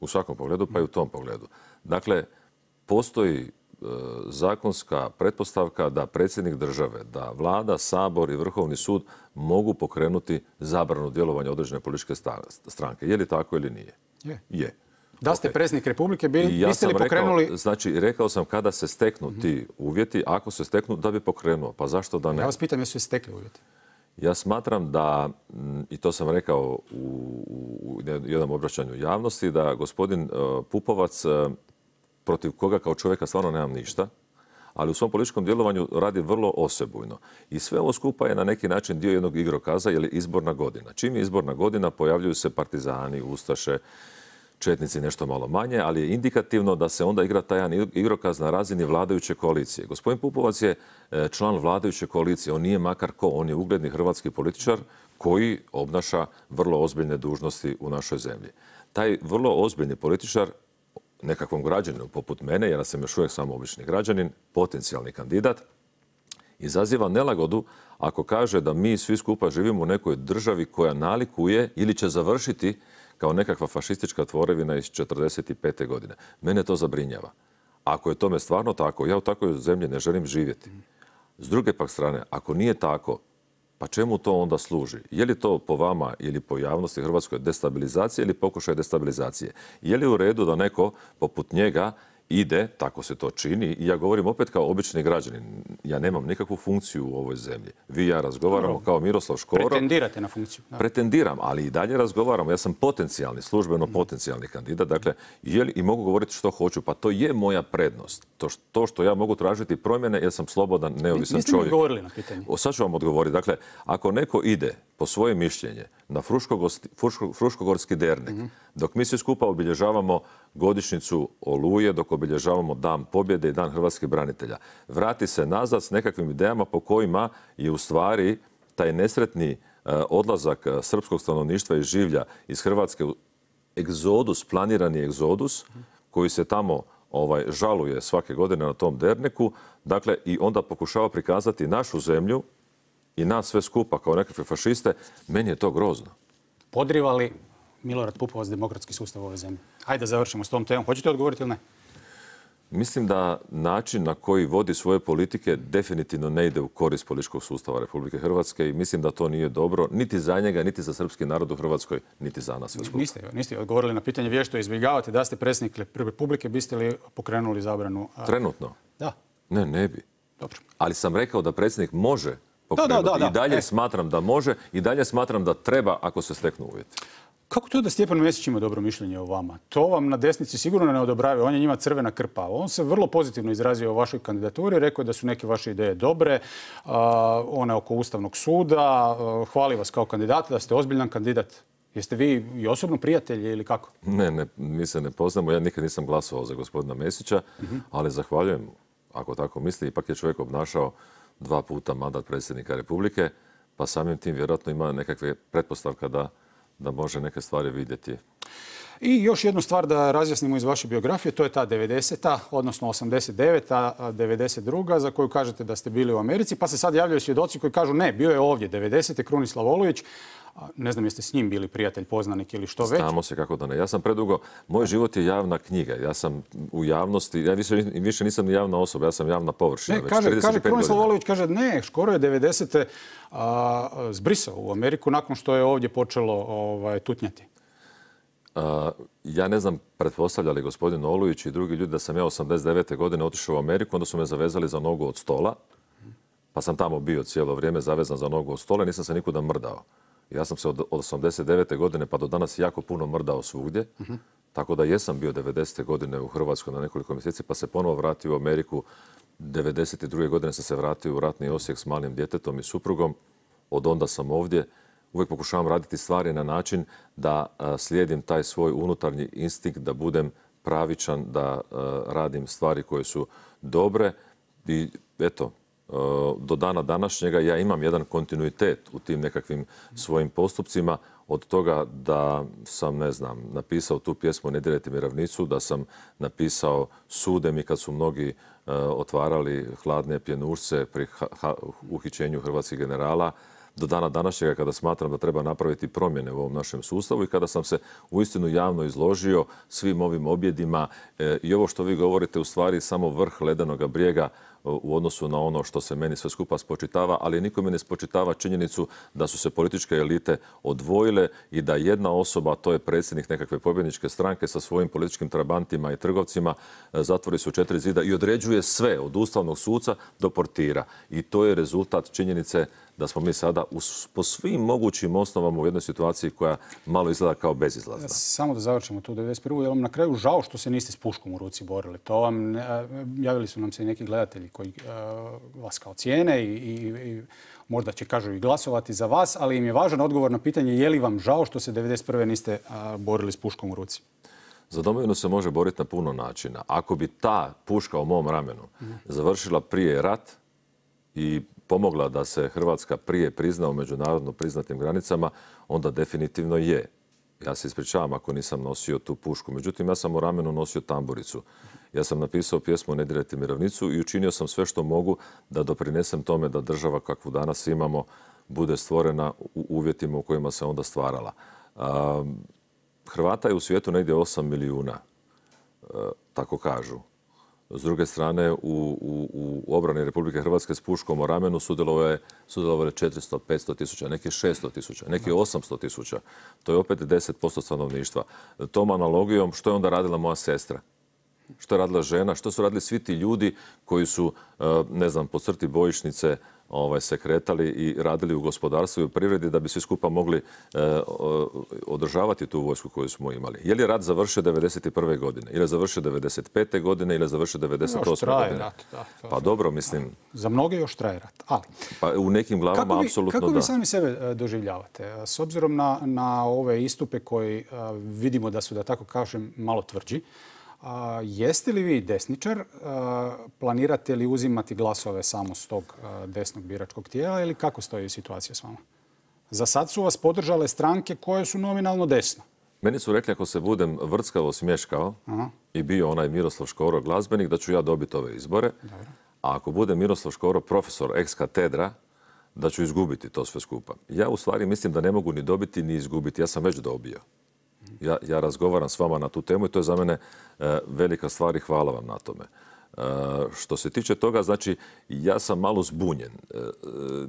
Speaker 2: U svakom pogledu, pa i u tom pogledu. Dakle, postoji e, zakonska pretpostavka da predsjednik države, da vlada, sabor i Vrhovni sud mogu pokrenuti zabranu djelovanja određene političke stranke. Je li tako ili nije?
Speaker 1: Je.
Speaker 2: Je.
Speaker 1: Da ste okay. predsjednik Republike, bili,
Speaker 2: ja
Speaker 1: biste li pokrenuli...
Speaker 2: Rekao, znači, rekao sam kada se steknu mm-hmm. ti uvjeti, ako se steknu, da bi pokrenuo. Pa zašto da ne?
Speaker 1: Ja vas pitam, jesu se stekli uvjeti?
Speaker 2: Ja smatram da, i to sam rekao u, u jednom obraćanju javnosti, da gospodin Pupovac, protiv koga kao čovjeka stvarno nemam ništa, ali u svom političkom djelovanju radi vrlo osebujno. I sve ovo skupa je na neki način dio jednog igrokaza, jer je izborna godina. Čim je izborna godina, pojavljuju se partizani, ustaše, četnici nešto malo manje, ali je indikativno da se onda igra taj jedan igrokaz na razini vladajuće koalicije. Gospodin Pupovac je član vladajuće koalicije, on nije makar ko, on je ugledni hrvatski političar koji obnaša vrlo ozbiljne dužnosti u našoj zemlji. Taj vrlo ozbiljni političar, nekakvom građaninu poput mene, jer sam još uvijek samo obični građanin, potencijalni kandidat, izaziva nelagodu ako kaže da mi svi skupa živimo u nekoj državi koja nalikuje ili će završiti kao nekakva fašistička tvorevina iz četrdeset pete godine. Mene to zabrinjava. Ako je tome stvarno tako, ja u takvoj zemlji ne želim živjeti. S druge pak strane, ako nije tako, pa čemu to onda služi? Je li to po vama ili po javnosti Hrvatskoj destabilizacija ili pokušaj destabilizacije? Je li u redu da neko poput njega ide, tako se to čini, i ja govorim opet kao obični građanin. Ja nemam nikakvu funkciju u ovoj zemlji. Vi i ja razgovaramo kao Miroslav Škoro.
Speaker 1: Pretendirate na funkciju.
Speaker 2: Da. Pretendiram, ali i dalje razgovaramo. Ja sam potencijalni, službeno potencijalni kandidat. Dakle, je li, i mogu govoriti što hoću. Pa to je moja prednost. To, to što ja mogu tražiti promjene, jer sam slobodan, neovisan
Speaker 1: Niste
Speaker 2: čovjek.
Speaker 1: Niste mi odgovorili na pitanje.
Speaker 2: O, sad ću vam odgovoriti. Dakle, ako neko ide po svoje mišljenje na Fruškogorski dernek, mm-hmm. dok mi svi skupa obilježavamo godišnjicu Oluje, dok obilježavamo Dan pobjede i Dan hrvatskih branitelja, vrati se nazad s nekakvim idejama po kojima je u stvari taj nesretni uh, odlazak uh, srpskog stanovništva i življa iz Hrvatske, egzodus, planirani egzodus, mm-hmm. koji se tamo ovaj, žaluje svake godine na tom derneku, dakle, i onda pokušava prikazati našu zemlju i nas sve skupa kao nekakve fašiste, meni je to grozno.
Speaker 1: Podriva li Milorad Pupovac demokratski sustav ove zemlje? Hajde da završimo s tom temom. Hoćete odgovoriti ili ne?
Speaker 2: Mislim da način na koji vodi svoje politike definitivno ne ide u korist političkog sustava Republike Hrvatske i mislim da to nije dobro niti za njega, niti za srpski narod u Hrvatskoj, niti za nas sve skupa.
Speaker 1: Niste, niste odgovorili na pitanje vješto izbjegavate. Da ste predsjednik Republike, biste li pokrenuli zabranu?
Speaker 2: Trenutno?
Speaker 1: Da.
Speaker 2: Ne, ne bi.
Speaker 1: Dobro.
Speaker 2: Ali sam rekao da predsjednik može pokrenuti.
Speaker 1: Da, da, da,
Speaker 2: I dalje
Speaker 1: e.
Speaker 2: smatram da može i dalje smatram da treba ako se steknu uvjeti.
Speaker 1: Kako to da Stjepan Mesić ima dobro mišljenje o vama? To vam na desnici sigurno ne odobravaju. On je njima crvena krpa. On se vrlo pozitivno izrazio o vašoj kandidaturi. Rekao je da su neke vaše ideje dobre. Uh, one oko Ustavnog suda. Uh, hvali vas kao kandidata, da ste ozbiljan kandidat. Jeste vi i osobno prijatelji ili kako?
Speaker 2: Ne, ne, mi se ne poznamo. Ja nikad nisam glasovao za gospodina Mesića, uh-huh. ali zahvaljujem, ako tako misli. Ipak je čovjek obnašao dva puta mandat predsjednika Republike, pa samim tim vjerojatno ima nekakve pretpostavka da da može neke stvari vidjeti.
Speaker 1: I još jednu stvar da razjasnimo iz vaše biografije, to je ta devedeseta, odnosno osamdeset deveta, devedeset druga za koju kažete da ste bili u Americi, pa se sad javljaju svjedoci koji kažu ne, bio je ovdje devedesete Krunislav Olujić. Ne znam jeste s njim bili prijatelj, poznanik ili što već.
Speaker 2: Znamo se kako da ne. Ja sam predugo, moj život je javna knjiga. Ja sam u javnosti, ja više, više nisam javna osoba, ja sam javna površina.
Speaker 1: Ne, kaže, kaže Krunislav Olujić, kaže ne, Škoro je devedesete a, zbrisao u Ameriku nakon što je ovdje počelo ovaj, tutnjati.
Speaker 2: A, ja ne znam, pretpostavljali gospodin Olujić i drugi ljudi da sam ja osamdeset devete godine otišao u Ameriku, onda su me zavezali za nogu od stola, pa sam tamo bio cijelo vrijeme zavezan za nogu od stola i nisam se nikuda mrdao. Ja sam se od osamdeset devete godine pa do danas jako puno mrdao svugdje, uh-huh. tako da jesam bio devedesete godine u Hrvatskoj na nekoliko mjeseci, pa se ponovo vratio u Ameriku. devedeset druge godine sam se vratio u ratni Osijek s malim djetetom i suprugom. Od onda sam ovdje. Uvijek pokušavam raditi stvari na način da a, slijedim taj svoj unutarnji instinkt, da budem pravičan, da a, radim stvari koje su dobre i eto, do dana današnjega ja imam jedan kontinuitet u tim nekakvim svojim postupcima, od toga da sam, ne znam, napisao tu pjesmu Ne dirajte mi ravnicu, da sam napisao Sude mi kad su mnogi uh, otvarali hladne pjenušce pri ha- ha- uhićenju hrvatskih generala, do dana današnjega kada smatram da treba napraviti promjene u ovom našem sustavu i kada sam se uistinu javno izložio svim ovim objedima e, i ovo što vi govorite u stvari samo vrh ledenog brijega u odnosu na ono što se meni sve skupa spočitava, ali nikome ne spočitava činjenicu da su se političke elite odvojile i da jedna osoba, to je predsjednik nekakve pobjedničke stranke sa svojim političkim trabantima i trgovcima, zatvori su četiri zida i određuje sve od ustavnog suca do portira. I to je rezultat činjenice da smo mi sada po svim mogućim osnovama u jednoj situaciji koja malo izgleda kao bezizlazna.
Speaker 1: Samo da završimo tu devedeset prvu. Je li vam na kraju žao što se niste s puškom u ruci borili? To vam, javili su nam se i neki gledatelji koji vas kao cijene i, i, i možda će, kažu, i glasovati za vas, ali im je važan odgovor na pitanje je li vam žao što se devedeset prve niste borili s puškom u ruci?
Speaker 2: Za domovinu se može boriti na puno načina. Ako bi ta puška u mom ramenu završila prije rat i pomogla da se Hrvatska prije prizna u međunarodno priznatim granicama, onda definitivno je. Ja se ispričavam ako nisam nosio tu pušku. Međutim, ja sam u ramenu nosio tamburicu. Ja sam napisao pjesmu Ne dirajte mirovnicu i učinio sam sve što mogu da doprinesem tome da država kakvu danas imamo bude stvorena u uvjetima u kojima se onda stvarala. Hrvata je u svijetu negdje osam milijuna, tako kažu. S druge strane, u, u, u obrani Republike Hrvatske s puškom u ramenu sudjelovalo je četiristo, petsto tisuća, neki šesto tisuća, neki osamsto tisuća. To je opet deset posto stanovništva. Tom analogijom što je onda radila moja sestra? Što je radila žena? Što su radili svi ti ljudi koji su, ne znam, po crti bojišnice ovaj, se kretali i radili u gospodarstvu i u privredi da bi svi skupa mogli eh, održavati tu vojsku koju smo imali. Je li rat završio devedeset prve godine? Ili je završio devedeset pete godine? Ili je završio devedeset osme godine?
Speaker 1: Rat, da, to,
Speaker 2: pa dobro, mislim...
Speaker 1: Za mnoge još traje rat. Ali,
Speaker 2: pa u nekim glavama
Speaker 1: vi,
Speaker 2: apsolutno da.
Speaker 1: Kako vi sami sebe doživljavate? S obzirom na, na ove istupe koji a, vidimo da su, da tako kažem, malo tvrđi, A, jeste li vi desničar? A, planirate li uzimati glasove samo s tog a, desnog biračkog tijela ili kako stoji situacija s vama? Za sad su vas podržale stranke koje su nominalno desno.
Speaker 2: Meni su rekli ako se budem vrckavo smješkao Aha. i bio onaj Miroslav Škoro glazbenik, da ću ja dobiti ove izbore. Dobro. A ako bude Miroslav Škoro profesor ex katedra, da ću izgubiti to sve skupa. Ja u stvari mislim da ne mogu ni dobiti ni izgubiti. Ja sam već dobio. Ja, ja razgovaram s vama na tu temu i to je za mene e, velika stvar i hvala vam na tome. E, što se tiče toga, znači, ja sam malo zbunjen. E,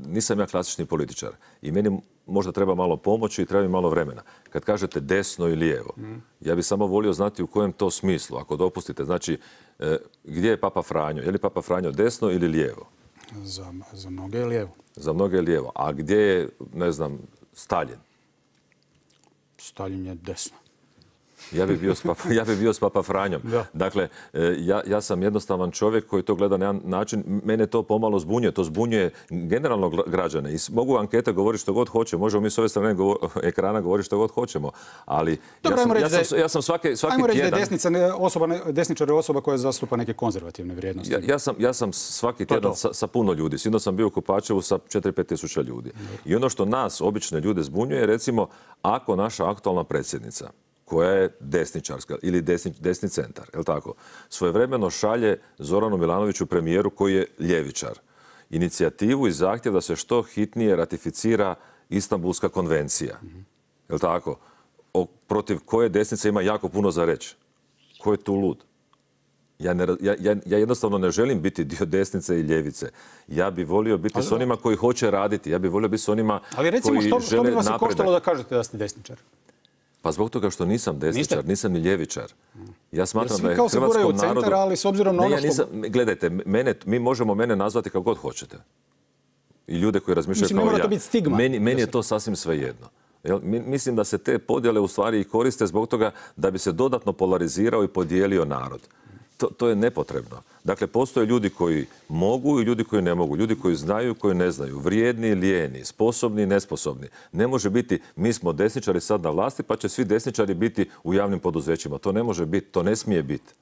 Speaker 2: nisam ja klasični političar i meni možda treba malo pomoći i treba mi malo vremena. Kad kažete desno i lijevo, mm. ja bih samo volio znati u kojem to smislu, ako dopustite. Znači, e, gdje je Papa Franjo? Je li Papa Franjo desno ili lijevo?
Speaker 1: Za, za mnoge je lijevo.
Speaker 2: Za mnoge je lijevo. A gdje je, ne znam, Staljin?
Speaker 1: Staljin je desno.
Speaker 2: Ja bih bio s Papa, ja bi bio s Papa Franjom. Da. Dakle, ja, ja sam jednostavan čovjek koji to gleda na jedan način. Mene to pomalo zbunjuje. To zbunjuje generalno građane. I mogu ankete govoriti što god hoće. Možemo mi s ove strane govor, ekrana govoriti što god hoćemo. Ali
Speaker 1: Dobro,
Speaker 2: ja, sam, ja, sam, ja sam svaki, svaki
Speaker 1: ajmo reći
Speaker 2: tjedan...
Speaker 1: da je desnica osoba, desničar je osoba koja zastupa neke konzervativne vrijednosti.
Speaker 2: Ja, ja, sam, ja sam svaki tjedan sa, sa puno ljudi. Sinoć sam bio u Kopačevu sa četiri pet tisuća ljudi. Dobro. I ono što nas, obične ljude, zbunjuje, recimo, ako naša aktualna predsjednica, koja je desničarska ili desni, desni centar, je li tako? Svojevremeno šalje Zoranu Milanoviću, premijeru koji je ljevičar, inicijativu i zahtjev da se što hitnije ratificira Istanbulska konvencija. Mm-hmm. Je li tako? O, protiv koje desnice ima jako puno za reći. Ko je tu lud? Ja, ne, ja, ja, ja jednostavno ne želim biti dio desnice i ljevice. Ja bih volio biti ali, s onima koji hoće raditi. Ja bih volio biti s onima
Speaker 1: ali recimo,
Speaker 2: koji
Speaker 1: što,
Speaker 2: žele
Speaker 1: što bi vas
Speaker 2: napredak.
Speaker 1: koštalo da kažete da ste desničar?
Speaker 2: Pa zbog toga što nisam desničar,
Speaker 1: Niste?
Speaker 2: Nisam ni ljevičar. Ja smatram da je
Speaker 1: hrvatskom narodu... Svi kao se guraju u centar, ali s obzirom na ono
Speaker 2: ne, ja nisam, što... Gledajte, mene, mi možemo mene nazvati kako god hoćete. I ljude koji razmišljaju
Speaker 1: Mislim,
Speaker 2: kao
Speaker 1: ne mora
Speaker 2: ja.
Speaker 1: to biti stigma.
Speaker 2: Meni, meni je to sasvim svejedno. Mislim da se te podjele u stvari i koriste zbog toga da bi se dodatno polarizirao i podijelio narod. To, to je nepotrebno. Dakle, postoje ljudi koji mogu i ljudi koji ne mogu. Ljudi koji znaju i koji ne znaju. Vrijedni i lijeni, sposobni i nesposobni. Ne može biti mi smo desničari sad na vlasti pa će svi desničari biti u javnim poduzećima. To ne može biti, to ne smije biti.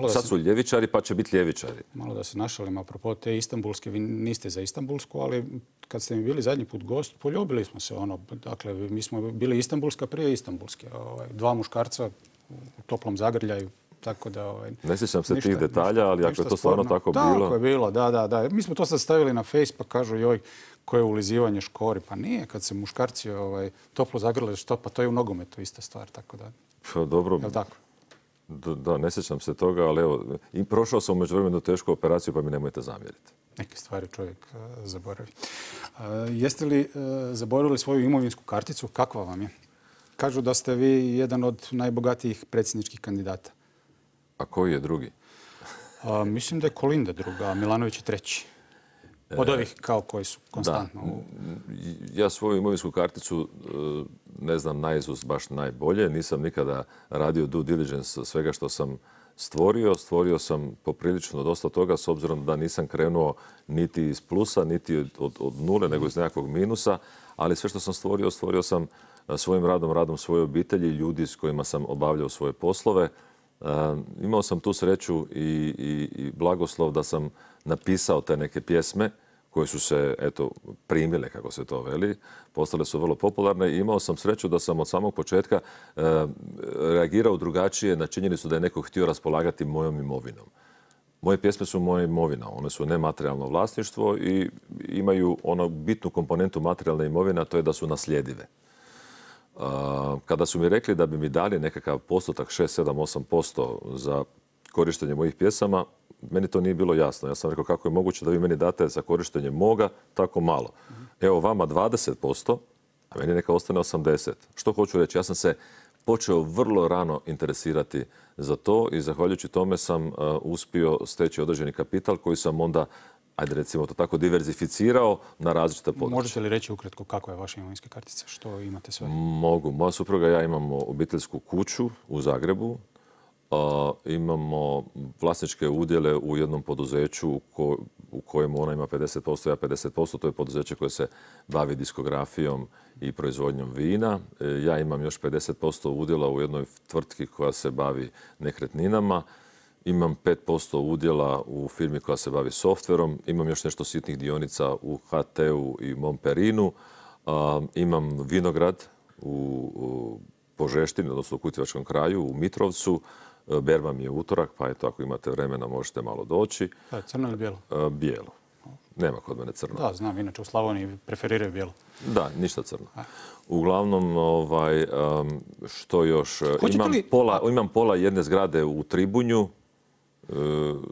Speaker 2: Sad su ljevičari pa će biti ljevičari.
Speaker 1: Malo da se našalim, apropo te Istanbulske, vi niste za Istanbulsku, ali kad ste mi bili zadnji put gost, poljubili smo se. Ono, dakle, mi smo bili Istanbulska prije Istanbulske. Ovaj, dva muškarca u toplom zagrljaju. Tako da, ovaj,
Speaker 2: ne sjećam se ništa, tih detalja, ali ništa, ako je to stvarno tako,
Speaker 1: tako
Speaker 2: bilo...
Speaker 1: Tako je bilo, da, da, da. Mi smo to sad stavili na Face pa kažu joj, koje je ulizivanje škori. Pa nije, kad se muškarci ovaj, toplo zagrle, što, pa to je u nogometu ista stvar, tako da...
Speaker 2: Pa dobro...
Speaker 1: Jel' tako?
Speaker 2: Da, da, ne sjećam se toga, ali evo, i prošao sam u međuvremenu tešku operaciju, pa mi nemojte zamjeriti.
Speaker 1: Neke stvari čovjek uh, zaboravi. Uh, jeste li uh, zaboravili svoju imovinsku karticu? Kakva vam je? Kažu da ste vi jedan od najbogatijih predsjedničkih kandidata.
Speaker 2: A koji je drugi?
Speaker 1: A, mislim da je Kolinda druga, a Milanović je treći. Od ovih kao koji su konstantno?
Speaker 2: Da. Ja svoju imovinsku karticu ne znam naizust baš najbolje. Nisam nikada radio due diligence svega što sam stvorio. Stvorio sam poprilično dosta toga s obzirom da nisam krenuo niti iz plusa, niti od, od nule, nego iz nekakvog minusa. Ali sve što sam stvorio, stvorio sam svojim radom, radom svoje obitelji, ljudi s kojima sam obavljao svoje poslove. Uh, imao sam tu sreću i, i, i blagoslov da sam napisao te neke pjesme koje su se eto, primile, kako se to veli. Postale su vrlo popularne i imao sam sreću da sam od samog početka uh, reagirao drugačije na činjenicu da je neko htio raspolagati mojom imovinom. Moje pjesme su moja imovina, one su nematerijalno vlasništvo i imaju ono bitnu komponentu materijalne imovine, a to je da su nasljedive. Kada su mi rekli da bi mi dali nekakav postotak šest, sedam, osam posto za korištenje mojih pjesama, meni to nije bilo jasno. Ja sam rekao kako je moguće da vi meni date za korištenje moga tako malo. Evo vama dvadeset posto, a meni neka ostane osamdeset. Što hoću reći? Ja sam se počeo vrlo rano interesirati za to i zahvaljujući tome sam uh, uspio steći određeni kapital koji sam onda, ajde recimo to tako, diverzificirao na različite područje.
Speaker 1: Možete li reći ukratko kako je vaša imovinska kartica? Što imate sve?
Speaker 2: Mogu. Moja supruga i ja imamo obiteljsku kuću u Zagrebu. Uh, imamo vlasničke udjele u jednom poduzeću u, ko, u kojem ona ima pedeset posto, ja pedeset posto. To je poduzeće koje se bavi diskografijom i proizvodnjom vina. E, ja imam još pedeset posto udjela u jednoj tvrtki koja se bavi nekretninama. Imam pet posto udjela u firmi koja se bavi softverom. Imam još nešto sitnih dionica u H T-u i Momperinu. Uh, imam vinograd u, u Požeštini, odnosno u Kutjevačkom kraju, u Mitrovcu. Berba mi je utorak, pa eto, ako imate vremena možete malo doći.
Speaker 1: Da, crno ili bijelo?
Speaker 2: Uh, bijelo. Nema kod mene crno.
Speaker 1: Da, znam, inače u Slavoniji preferiraju bijelo.
Speaker 2: Da, ništa crno. Uglavnom, ovaj, um, što još? Imam,
Speaker 1: li...
Speaker 2: pola, imam pola jedne zgrade u Tribunju.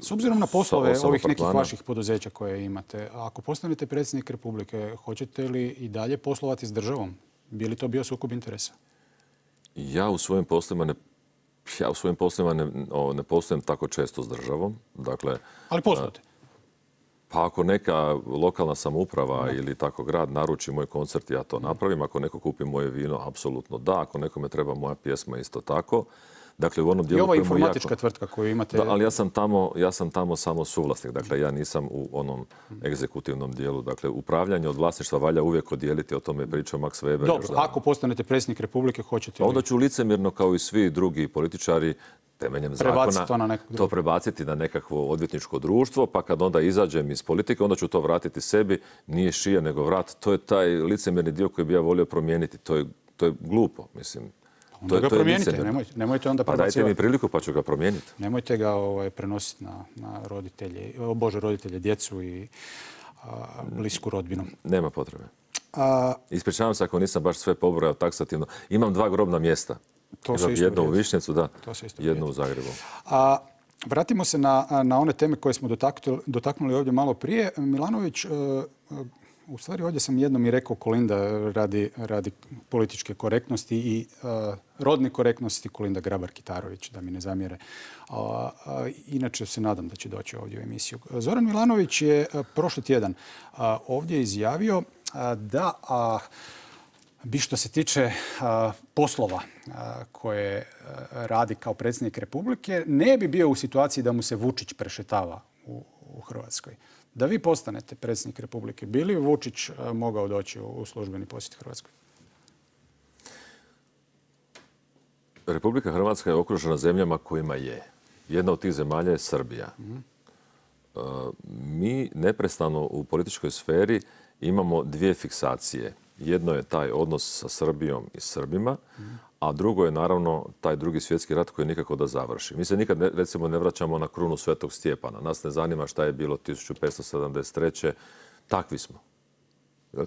Speaker 1: S obzirom na poslove ovih nekih vaših poduzeća koje imate, ako postanete predsjednik Republike, hoćete li i dalje poslovati s državom? Bi li to bio sukob interesa?
Speaker 2: Ja u svojim poslovima ne, ja u svojim poslovima ne, o, ne poslujem tako često s državom. Dakle,
Speaker 1: ali poslujete?
Speaker 2: Pa ako neka lokalna samouprava ili tako grad naruči moj koncert, ja to napravim. Ako neko kupi moje vino, apsolutno da. Ako nekome treba moja pjesma, isto tako. Dakle, u onom dijelu
Speaker 1: I ova informatička jako... tvrtka koju imate...
Speaker 2: Da, ali ja sam, tamo, ja sam tamo samo suvlasnik. Dakle, ja nisam u onom egzekutivnom dijelu. Dakle, upravljanje od vlasništva valja uvijek odijeliti. O tome je pričao Max Weber.
Speaker 1: Dobro, ako postanete predsjednik Republike, hoćete li...
Speaker 2: Onda ću licemjerno, kao i svi drugi političari, temeljem zakona,
Speaker 1: to, na
Speaker 2: to prebaciti na nekakvo odvjetničko društvo, pa kad onda izađem iz politike, onda ću to vratiti sebi. Nije šija nego vrat. To je taj licemjerni dio koji bi ja volio promijeniti. To je, to je glupo, mislim.
Speaker 1: Onda ga promijenite, nemojte, nemojte onda
Speaker 2: prebacivati. Pa dajte mi priliku pa ću ga promijeniti.
Speaker 1: Nemojte ga ovaj, prenositi na, na roditelje, o Bože, roditelje, djecu i a, blisku rodbinu.
Speaker 2: Nema potrebe. A, Ispričavam se ako nisam baš sve pobrojao taksativno. Imam dva grobna mjesta.
Speaker 1: To se isto
Speaker 2: jedno
Speaker 1: vrijedi.
Speaker 2: u Višnjecu, da, jedno u Zagrebu.
Speaker 1: A, vratimo se na, na one teme koje smo dotaknuli, dotaknuli ovdje malo prije. Milanović, u stvari ovdje sam jednom i rekao Kolinda radi, radi političke korektnosti i uh, rodne korektnosti, Kolinda Grabar-Kitarović, da mi ne zamjere. Uh, uh, inače se nadam da će doći ovdje u emisiju. Zoran Milanović je uh, prošli tjedan uh, ovdje izjavio uh, da uh, bi što se tiče uh, poslova uh, koje uh, radi kao predsjednik Republike, ne bi bio u situaciji da mu se Vučić prešetava u, u Hrvatskoj. Da vi postanete predsjednik Republike, bi li Vučić mogao doći u službeni posjet Hrvatskoj?
Speaker 2: Republika Hrvatska je okružena zemljama kojima je. Jedna od tih zemalja je Srbija. Mm-hmm. Mi neprestano u političkoj sferi imamo dvije fiksacije. Jedno je taj odnos sa Srbijom i Srbima, mm-hmm. a drugo je naravno taj drugi svjetski rat koji nikako da završi. Mi se nikad ne, recimo ne vraćamo na krunu Svetog Stjepana. Nas ne zanima šta je bilo tisuću petsto sedamdeset treće Takvi smo.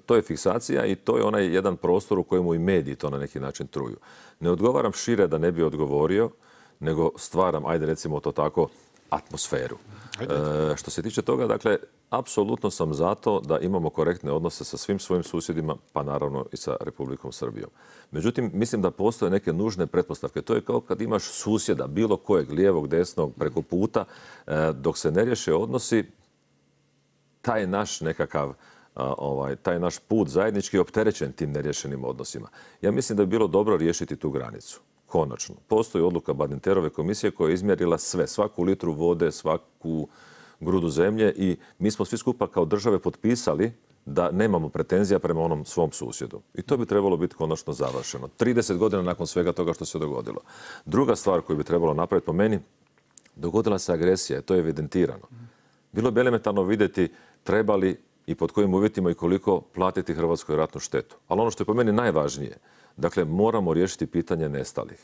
Speaker 2: To je fiksacija i to je onaj jedan prostor u kojemu i mediji to na neki način truju. Ne odgovaram šire da ne bi odgovorio, nego stvaram, ajde recimo to tako, atmosferu. E, što se tiče toga, dakle, apsolutno sam zato da imamo korektne odnose sa svim svojim susjedima, pa naravno i sa Republikom Srbijom. Međutim, mislim da postoje neke nužne pretpostavke. To je kao kad imaš susjeda, bilo kojeg, lijevog, desnog, preko puta, e, dok se ne riješe odnosi, taj naš nekakav Ovaj, taj naš put zajednički je opterećen tim nerješenim odnosima. Ja mislim da bi bilo dobro riješiti tu granicu. Konačno. Postoji odluka Badinterove komisije koja je izmjerila sve, svaku litru vode, svaku grudu zemlje i mi smo svi skupa kao države potpisali da nemamo pretenzija prema onom svom susjedu. I to bi trebalo biti konačno završeno. trideset godina nakon svega toga što se dogodilo. Druga stvar koju bi trebalo napraviti po meni, dogodila se agresija, to je evidentirano. Bilo bi elementarno vidjeti treba li i pod kojim uvjetima i koliko platiti Hrvatskoj ratnu štetu. Ali ono što je po meni najvažnije, dakle moramo riješiti pitanje nestalih.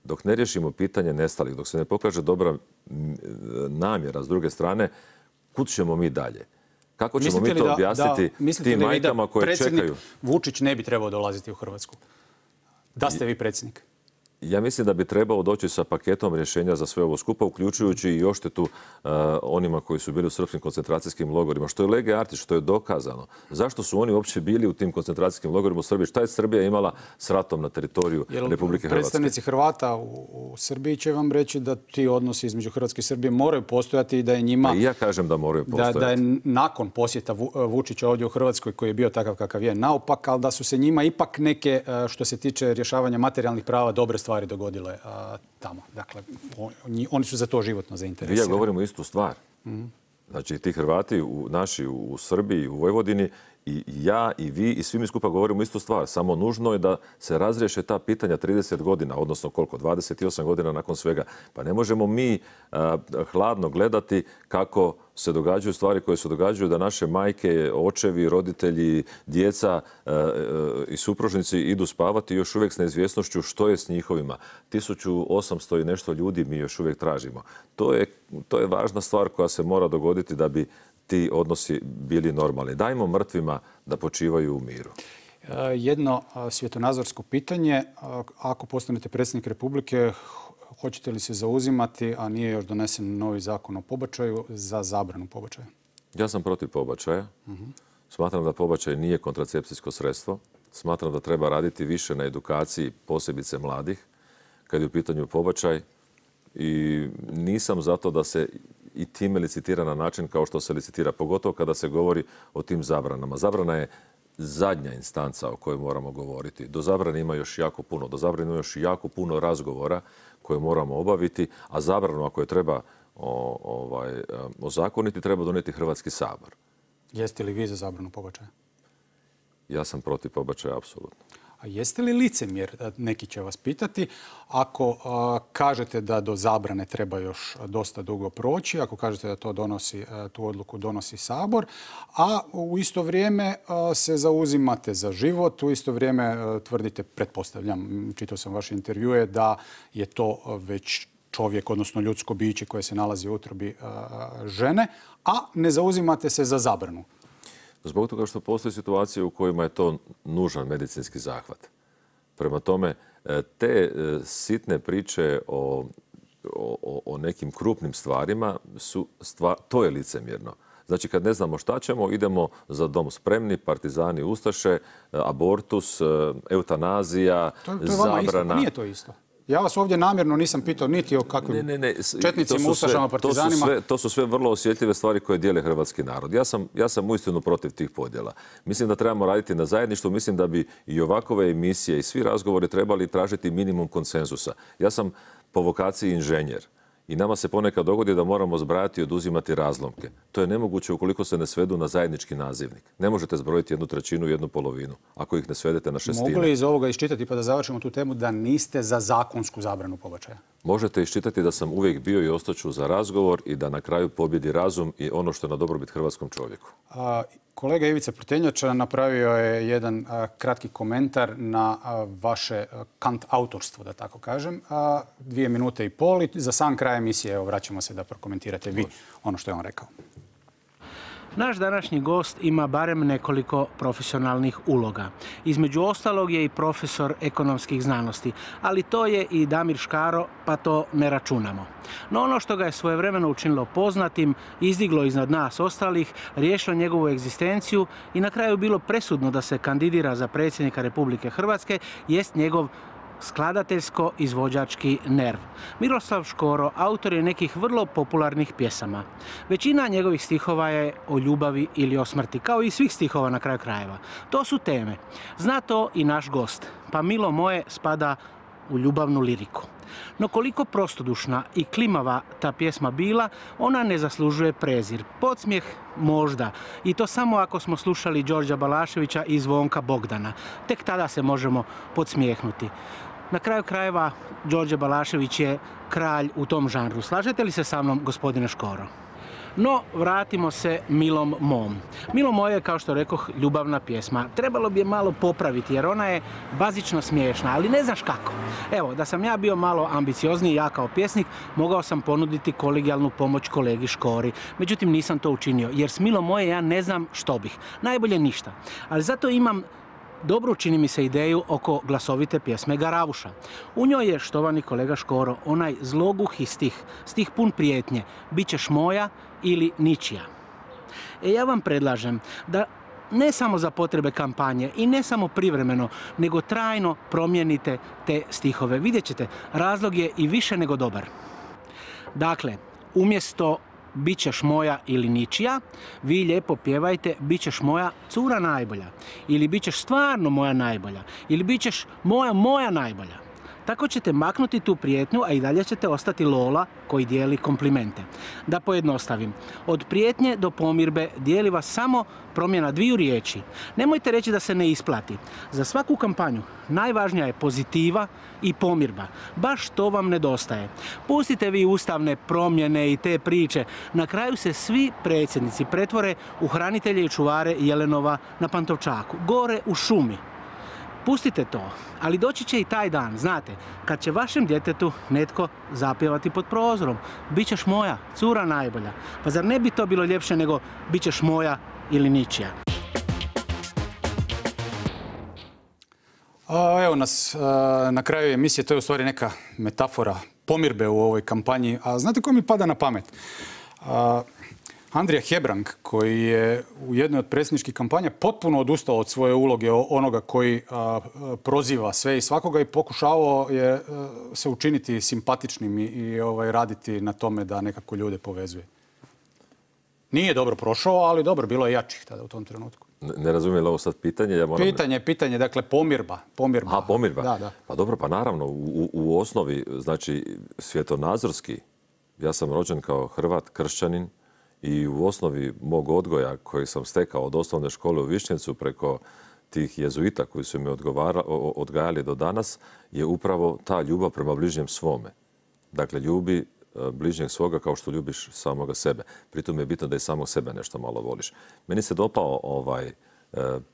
Speaker 2: Dok ne riješimo pitanje nestalih, dok se ne pokaže dobra namjera s druge strane, kud ćemo mi dalje? Kako ćemo mi to objasniti tim majkama koje čekaju?
Speaker 1: Predsjednik Vučić ne bi trebao dolaziti u Hrvatsku? Da ste vi predsjednik?
Speaker 2: Ja mislim da bi trebao doći sa paketom rješenja za sve ovo skupa, uključujući i odštetu uh, onima koji su bili u srpskim koncentracijskim logorima, što je lege artis, što je dokazano. Zašto su oni uopće bili u tim koncentracijskim logorima u Srbiji? Šta je Srbija imala s ratom na teritoriju Jel, Republike Hrvatske?
Speaker 1: Predstavnici Hrvata u, u Srbiji će vam reći da ti odnosi između Hrvatske i Srbije moraju postojati i da je njima...
Speaker 2: A i ja kažem da moraju postojati.
Speaker 1: Da, da je nakon posjeta Vučića ovdje u Hrvatskoj, koji je bio takav kakav je, naopak, ali da su se njima ipak neke, što se tiče rješavanja materijalnih prava, dobre stvari dogodile a, tamo. Dakle, oni, oni su za to životno zainteresirani.
Speaker 2: Ja govorimo istu stvar. Mm-hmm. Znači, ti Hrvati u, naši u, u Srbiji, u Vojvodini, i ja i vi i svi mi skupa govorimo istu stvar. Samo nužno je da se razriješe ta pitanja trideset godina, odnosno koliko, dvadeset osam godina nakon svega. Pa ne možemo mi a, hladno gledati kako se događaju stvari koje se događaju, da naše majke, očevi, roditelji, djeca a, a, i supružnici idu spavati još uvijek s neizvjesnošću što je s njihovima. tisuću osamsto i nešto ljudi mi još uvijek tražimo. To je, to je važna stvar koja se mora dogoditi da bi ti odnosi bili normalni. Dajmo mrtvima da počivaju u miru.
Speaker 1: Jedno svjetonazorsko pitanje. Ako postanete predsjednik Republike, hoćete li se zauzimati, a nije još donesen novi zakon o pobačaju, za zabranu pobačaja?
Speaker 2: Ja sam protiv pobačaja. Uh-huh. Smatram da pobačaj nije kontracepcijsko sredstvo. Smatram da treba raditi više na edukaciji, posebice mladih, kad je u pitanju pobačaj. I nisam zato da se i time licitira na način kao što se licitira, pogotovo kada se govori o tim zabranama. Zabrana je zadnja instanca o kojoj moramo govoriti. Do zabrane ima još jako puno. Do zabrane ima još jako puno razgovora koje moramo obaviti, a zabranu ako je treba o, ovaj, ozakoniti, treba donijeti Hrvatski sabor.
Speaker 1: Jeste li vi za zabranu pobačaja?
Speaker 2: Ja sam protiv pobačaja, apsolutno.
Speaker 1: A jeste li licemjer, neki će vas pitati, ako a, kažete da do zabrane treba još dosta dugo proći, ako kažete da to donosi, a, tu odluku donosi Sabor, a u isto vrijeme a, se zauzimate za život, u isto vrijeme a, tvrdite, pretpostavljam, čitao sam vaše intervjue, da je to već čovjek, odnosno ljudsko biće koje se nalazi u utrobi a, žene, a ne zauzimate se za zabranu.
Speaker 2: Zbog toga što postoji situacije u kojima je to nužan medicinski zahvat. Prema tome, te sitne priče o, o, o nekim krupnim stvarima, su stvar, to je licemjerno. Znači, kad ne znamo šta ćemo, idemo za dom spremni, partizani, ustaše, abortus, eutanazija,
Speaker 1: to, to je vama
Speaker 2: zabrana.
Speaker 1: Isto, pa nije to isto. Ja vas ovdje namjerno nisam pitao niti o kakvim ne, ne, ne. četnicima, ustašama, partizanima.
Speaker 2: To su, sve, to su sve vrlo osjetljive stvari koje dijele hrvatski narod. Ja sam, ja sam uistinu protiv tih podjela. Mislim da trebamo raditi na zajedništvu. Mislim da bi i ovakove emisije i svi razgovori trebali tražiti minimum konsenzusa. Ja sam po vokaciji inženjer. I nama se ponekad dogodi da moramo zbrajati i oduzimati razlomke. To je nemoguće ukoliko se ne svedu na zajednički nazivnik. Ne možete zbrojiti jednu trećinu i jednu polovinu, ako ih ne svedete na šestine.
Speaker 1: Mogu li iz ovoga iščitati, pa da završimo tu temu, da niste za zakonsku zabranu pobačaja?
Speaker 2: Možete iščitati da sam uvijek bio i ostaću za razgovor i da na kraju pobjedi razum i ono što je na dobrobit hrvatskom čovjeku.
Speaker 1: A, kolega Ivica Prtenjača napravio je jedan a, kratki komentar na a, vaše a, kant autorstvo, da tako kažem. A, dvije minute i pol i za sam kraj emisije evo, vraćamo se da prokomentirate vi ono što je on rekao.
Speaker 6: Naš današnji gost ima barem nekoliko profesionalnih uloga. Između ostalog je i profesor ekonomskih znanosti, ali to je i Damir Škaro, pa to ne računamo. No ono što ga je svojevremeno učinilo poznatim, izdiglo iznad nas ostalih, riješilo njegovu egzistenciju i na kraju bilo presudno da se kandidira za predsjednika Republike Hrvatske, jest njegov skladateljsko-izvođački nerv. Miroslav Škoro autor je nekih vrlo popularnih pjesama. Većina njegovih stihova je o ljubavi ili o smrti, kao i svih stihova na kraju krajeva. To su teme. Zna to i naš gost, pa Milo moje spada u ljubavnu liriku. No koliko prostodušna i klimava ta pjesma bila, ona ne zaslužuje prezir. Podsmijeh možda. I to samo ako smo slušali Đorđa Balaševića i Zvonka Bogdana. Tek tada se možemo podsmijehnuti. Na kraju krajeva, Đorđe Balašević je kralj u tom žanru. Slažete li se sa mnom, gospodine Škoro? No, vratimo se Milom mom. Milo moje je, kao što rekoh, ljubavna pjesma. Trebalo bi je malo popraviti jer ona je bazično smiješna, ali ne znaš kako. Evo, da sam ja bio malo ambiciozniji, ja kao pjesnik, mogao sam ponuditi kolegijalnu pomoć kolegi Škori. Međutim, nisam to učinio jer s Milo moje ja ne znam što bih. Najbolje ništa. Ali zato imam dobru, čini mi se, ideju oko glasovite pjesme Garavuša. U njoj je, štovani kolega Škoro, onaj zloguhi stih, stih pun prijetnje, bit ćeš moja ili ničija. E ja vam predlažem da ne samo za potrebe kampanje i ne samo privremeno, nego trajno promijenite te stihove. Vidjet ćete, razlog je i više nego dobar. Dakle, umjesto bit ćeš moja ili ničija, vi lijepo pjevajte bit ćeš moja cura najbolja. Ili bit ćeš stvarno moja najbolja. Ili bit ćeš moja moja najbolja. Tako ćete maknuti tu prijetnju, a i dalje ćete ostati Lola koji dijeli komplimente. Da pojednostavim, od prijetnje do pomirbe dijeli vas samo promjena dviju riječi. Nemojte reći da se ne isplati. Za svaku kampanju najvažnija je pozitiva i pomirba. Baš to vam nedostaje. Pustite vi ustavne promjene i te priče. Na kraju se svi predsjednici pretvore u hranitelje i čuvare Jelenova na Pantovčaku, gore u šumi. Pustite to, ali doći će i taj dan, znate, kad će vašem djetetu netko zapjevati pod prozorom. Bićeš moja, cura najbolja. Pa zar ne bi to bilo ljepše nego bićeš moja ili ničija?
Speaker 1: A, evo nas a, na kraju emisije, to je u stvari neka metafora pomirbe u ovoj kampanji. A znate ko mi pada na pamet? A, Andrija Hebrang, koji je u jednoj od predsjedničkih kampanja potpuno odustao od svoje uloge onoga koji a, proziva sve i svakoga i pokušavao je a, se učiniti simpatičnim i, i ovaj, raditi na tome da nekako ljude povezuje. Nije dobro prošao, ali dobro, bilo je jačih tada u tom trenutku.
Speaker 2: Ne, ne razumijem li ovo sad pitanje? Ja moram...
Speaker 1: Pitanje, pitanje, dakle pomirba. pomirba.
Speaker 2: A, pomirba.
Speaker 1: Da, da.
Speaker 2: Pa dobro, pa naravno, u, u osnovi, znači svjetonazorski, ja sam rođen kao Hrvat, kršćanin, i u osnovi mog odgoja koji sam stekao od osnovne škole u Višnjevcu preko tih jezuita koji su me odgajali do danas je upravo ta ljubav prema bližnjem svome. Dakle, ljubi bližnjeg svoga kao što ljubiš samoga sebe. Pritom je bitno da i samog sebe nešto malo voliš. Meni se dopao ovaj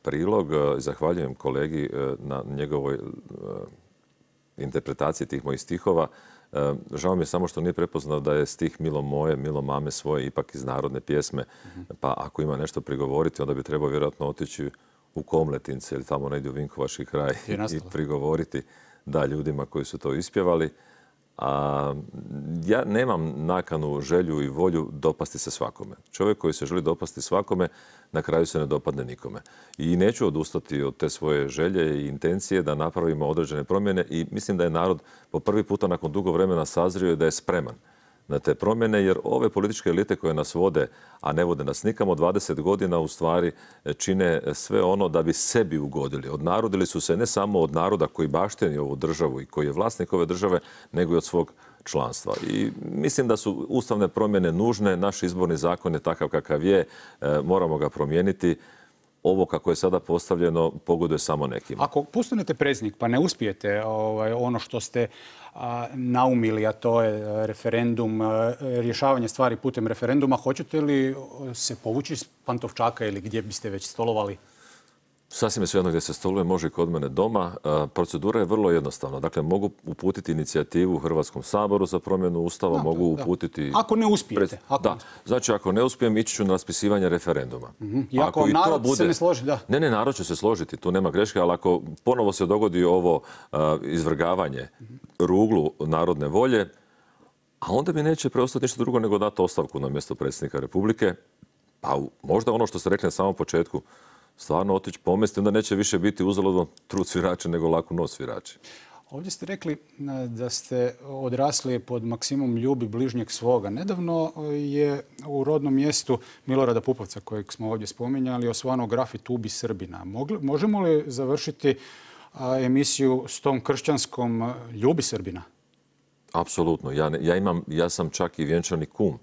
Speaker 2: prilog. Zahvaljujem kolegi na njegovoj interpretaciji tih mojih stihova. Žao mi je samo što nije prepoznao da je stih Milo moje, Milo mame svoje ipak iz narodne pjesme. Pa ako ima nešto prigovoriti, onda bi trebao vjerojatno otići u Komletince ili tamo negdje u Vinkovački kraj i prigovoriti da ljudima koji su to ispjevali. A ja nemam nakanu, želju i volju dopasti se svakome. Čovjek koji se želi dopasti svakome, na kraju se ne dopadne nikome. I neću odustati od te svoje želje i intencije da napravimo određene promjene i mislim da je narod po prvi puta nakon dugo vremena sazrio i da je spreman na te promjene, jer ove političke elite koje nas vode, a ne vode nas nikamo, dvadeset godina u stvari čine sve ono da bi sebi ugodili. Odnarodili su se ne samo od naroda koji bašteni ovu državu i koji je vlasnik ove države, nego i od svog članstva. I mislim da su ustavne promjene nužne, naš izborni zakon je takav kakav je, moramo ga promijeniti. Ovo kako je sada postavljeno pogoduje samo nekima.
Speaker 1: Ako postanete predsjednik pa ne uspijete ovaj, ono što ste a, naumili, a to je referendum, a, rješavanje stvari putem referenduma, hoćete li se povući iz Pantovčaka ili gdje biste već stolovali?
Speaker 2: Sasvim je svejedno gdje se stoluje, može i kod mene doma. Procedura je vrlo jednostavna. Dakle, mogu uputiti inicijativu u Hrvatskom saboru za promjenu Ustava, da, mogu uputiti...
Speaker 1: Ako ne uspijete. Ako
Speaker 2: da, znači ako ne uspijem, ići ću na raspisivanje referenduma.
Speaker 1: Mm-hmm. I ako, ako narod bude... se ne složi, da.
Speaker 2: Ne, ne, narod će se složiti, tu nema greške, ali ako ponovo se dogodi ovo uh, izvrgavanje mm-hmm. ruglu narodne volje, a onda mi neće preostati ništa drugo nego dati ostavku na mjesto predsjednika Republike, pa možda ono što ste rekli na samom početku, stvarno otići pomesti, onda neće više biti uzaludno trud svirača nego laku nos svirači.
Speaker 1: Ovdje ste rekli da ste odrasli pod maksimom ljubi bližnjeg svoga. Nedavno je u rodnom mjestu Milorada Pupovca, kojeg smo ovdje spominjali, osvano grafit Ubi Srbina. Možemo li završiti emisiju s tom kršćanskom ljubi Srbina?
Speaker 2: Apsolutno. Ja, ja, imam, ja sam čak i vjenčani kum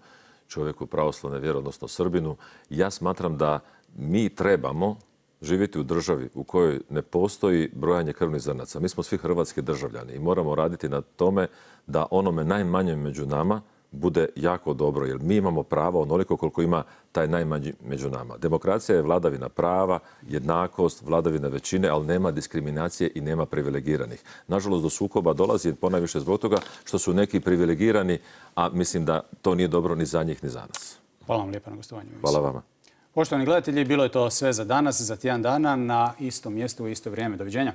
Speaker 2: čovjeku pravoslavne vjere, odnosno Srbinu. Ja smatram da mi trebamo živjeti u državi u kojoj ne postoji brojanje krvnih zrnaca. Mi smo svi hrvatski državljani i moramo raditi na tome da onome najmanjem među nama bude jako dobro, jer mi imamo pravo onoliko koliko ima taj najmanji među nama. Demokracija je vladavina prava, jednakost, vladavina većine, ali nema diskriminacije i nema privilegiranih. Nažalost, do sukoba dolazi ponajviše zbog toga što su neki privilegirani, a mislim da to nije dobro ni za njih ni za nas.
Speaker 1: Hvala vam lijepa na gostovanju.
Speaker 2: Hvala vama.
Speaker 1: Poštovani gledatelji, bilo je to sve za danas, za tjedan dana na istom mjestu u isto vrijeme. Doviđenja.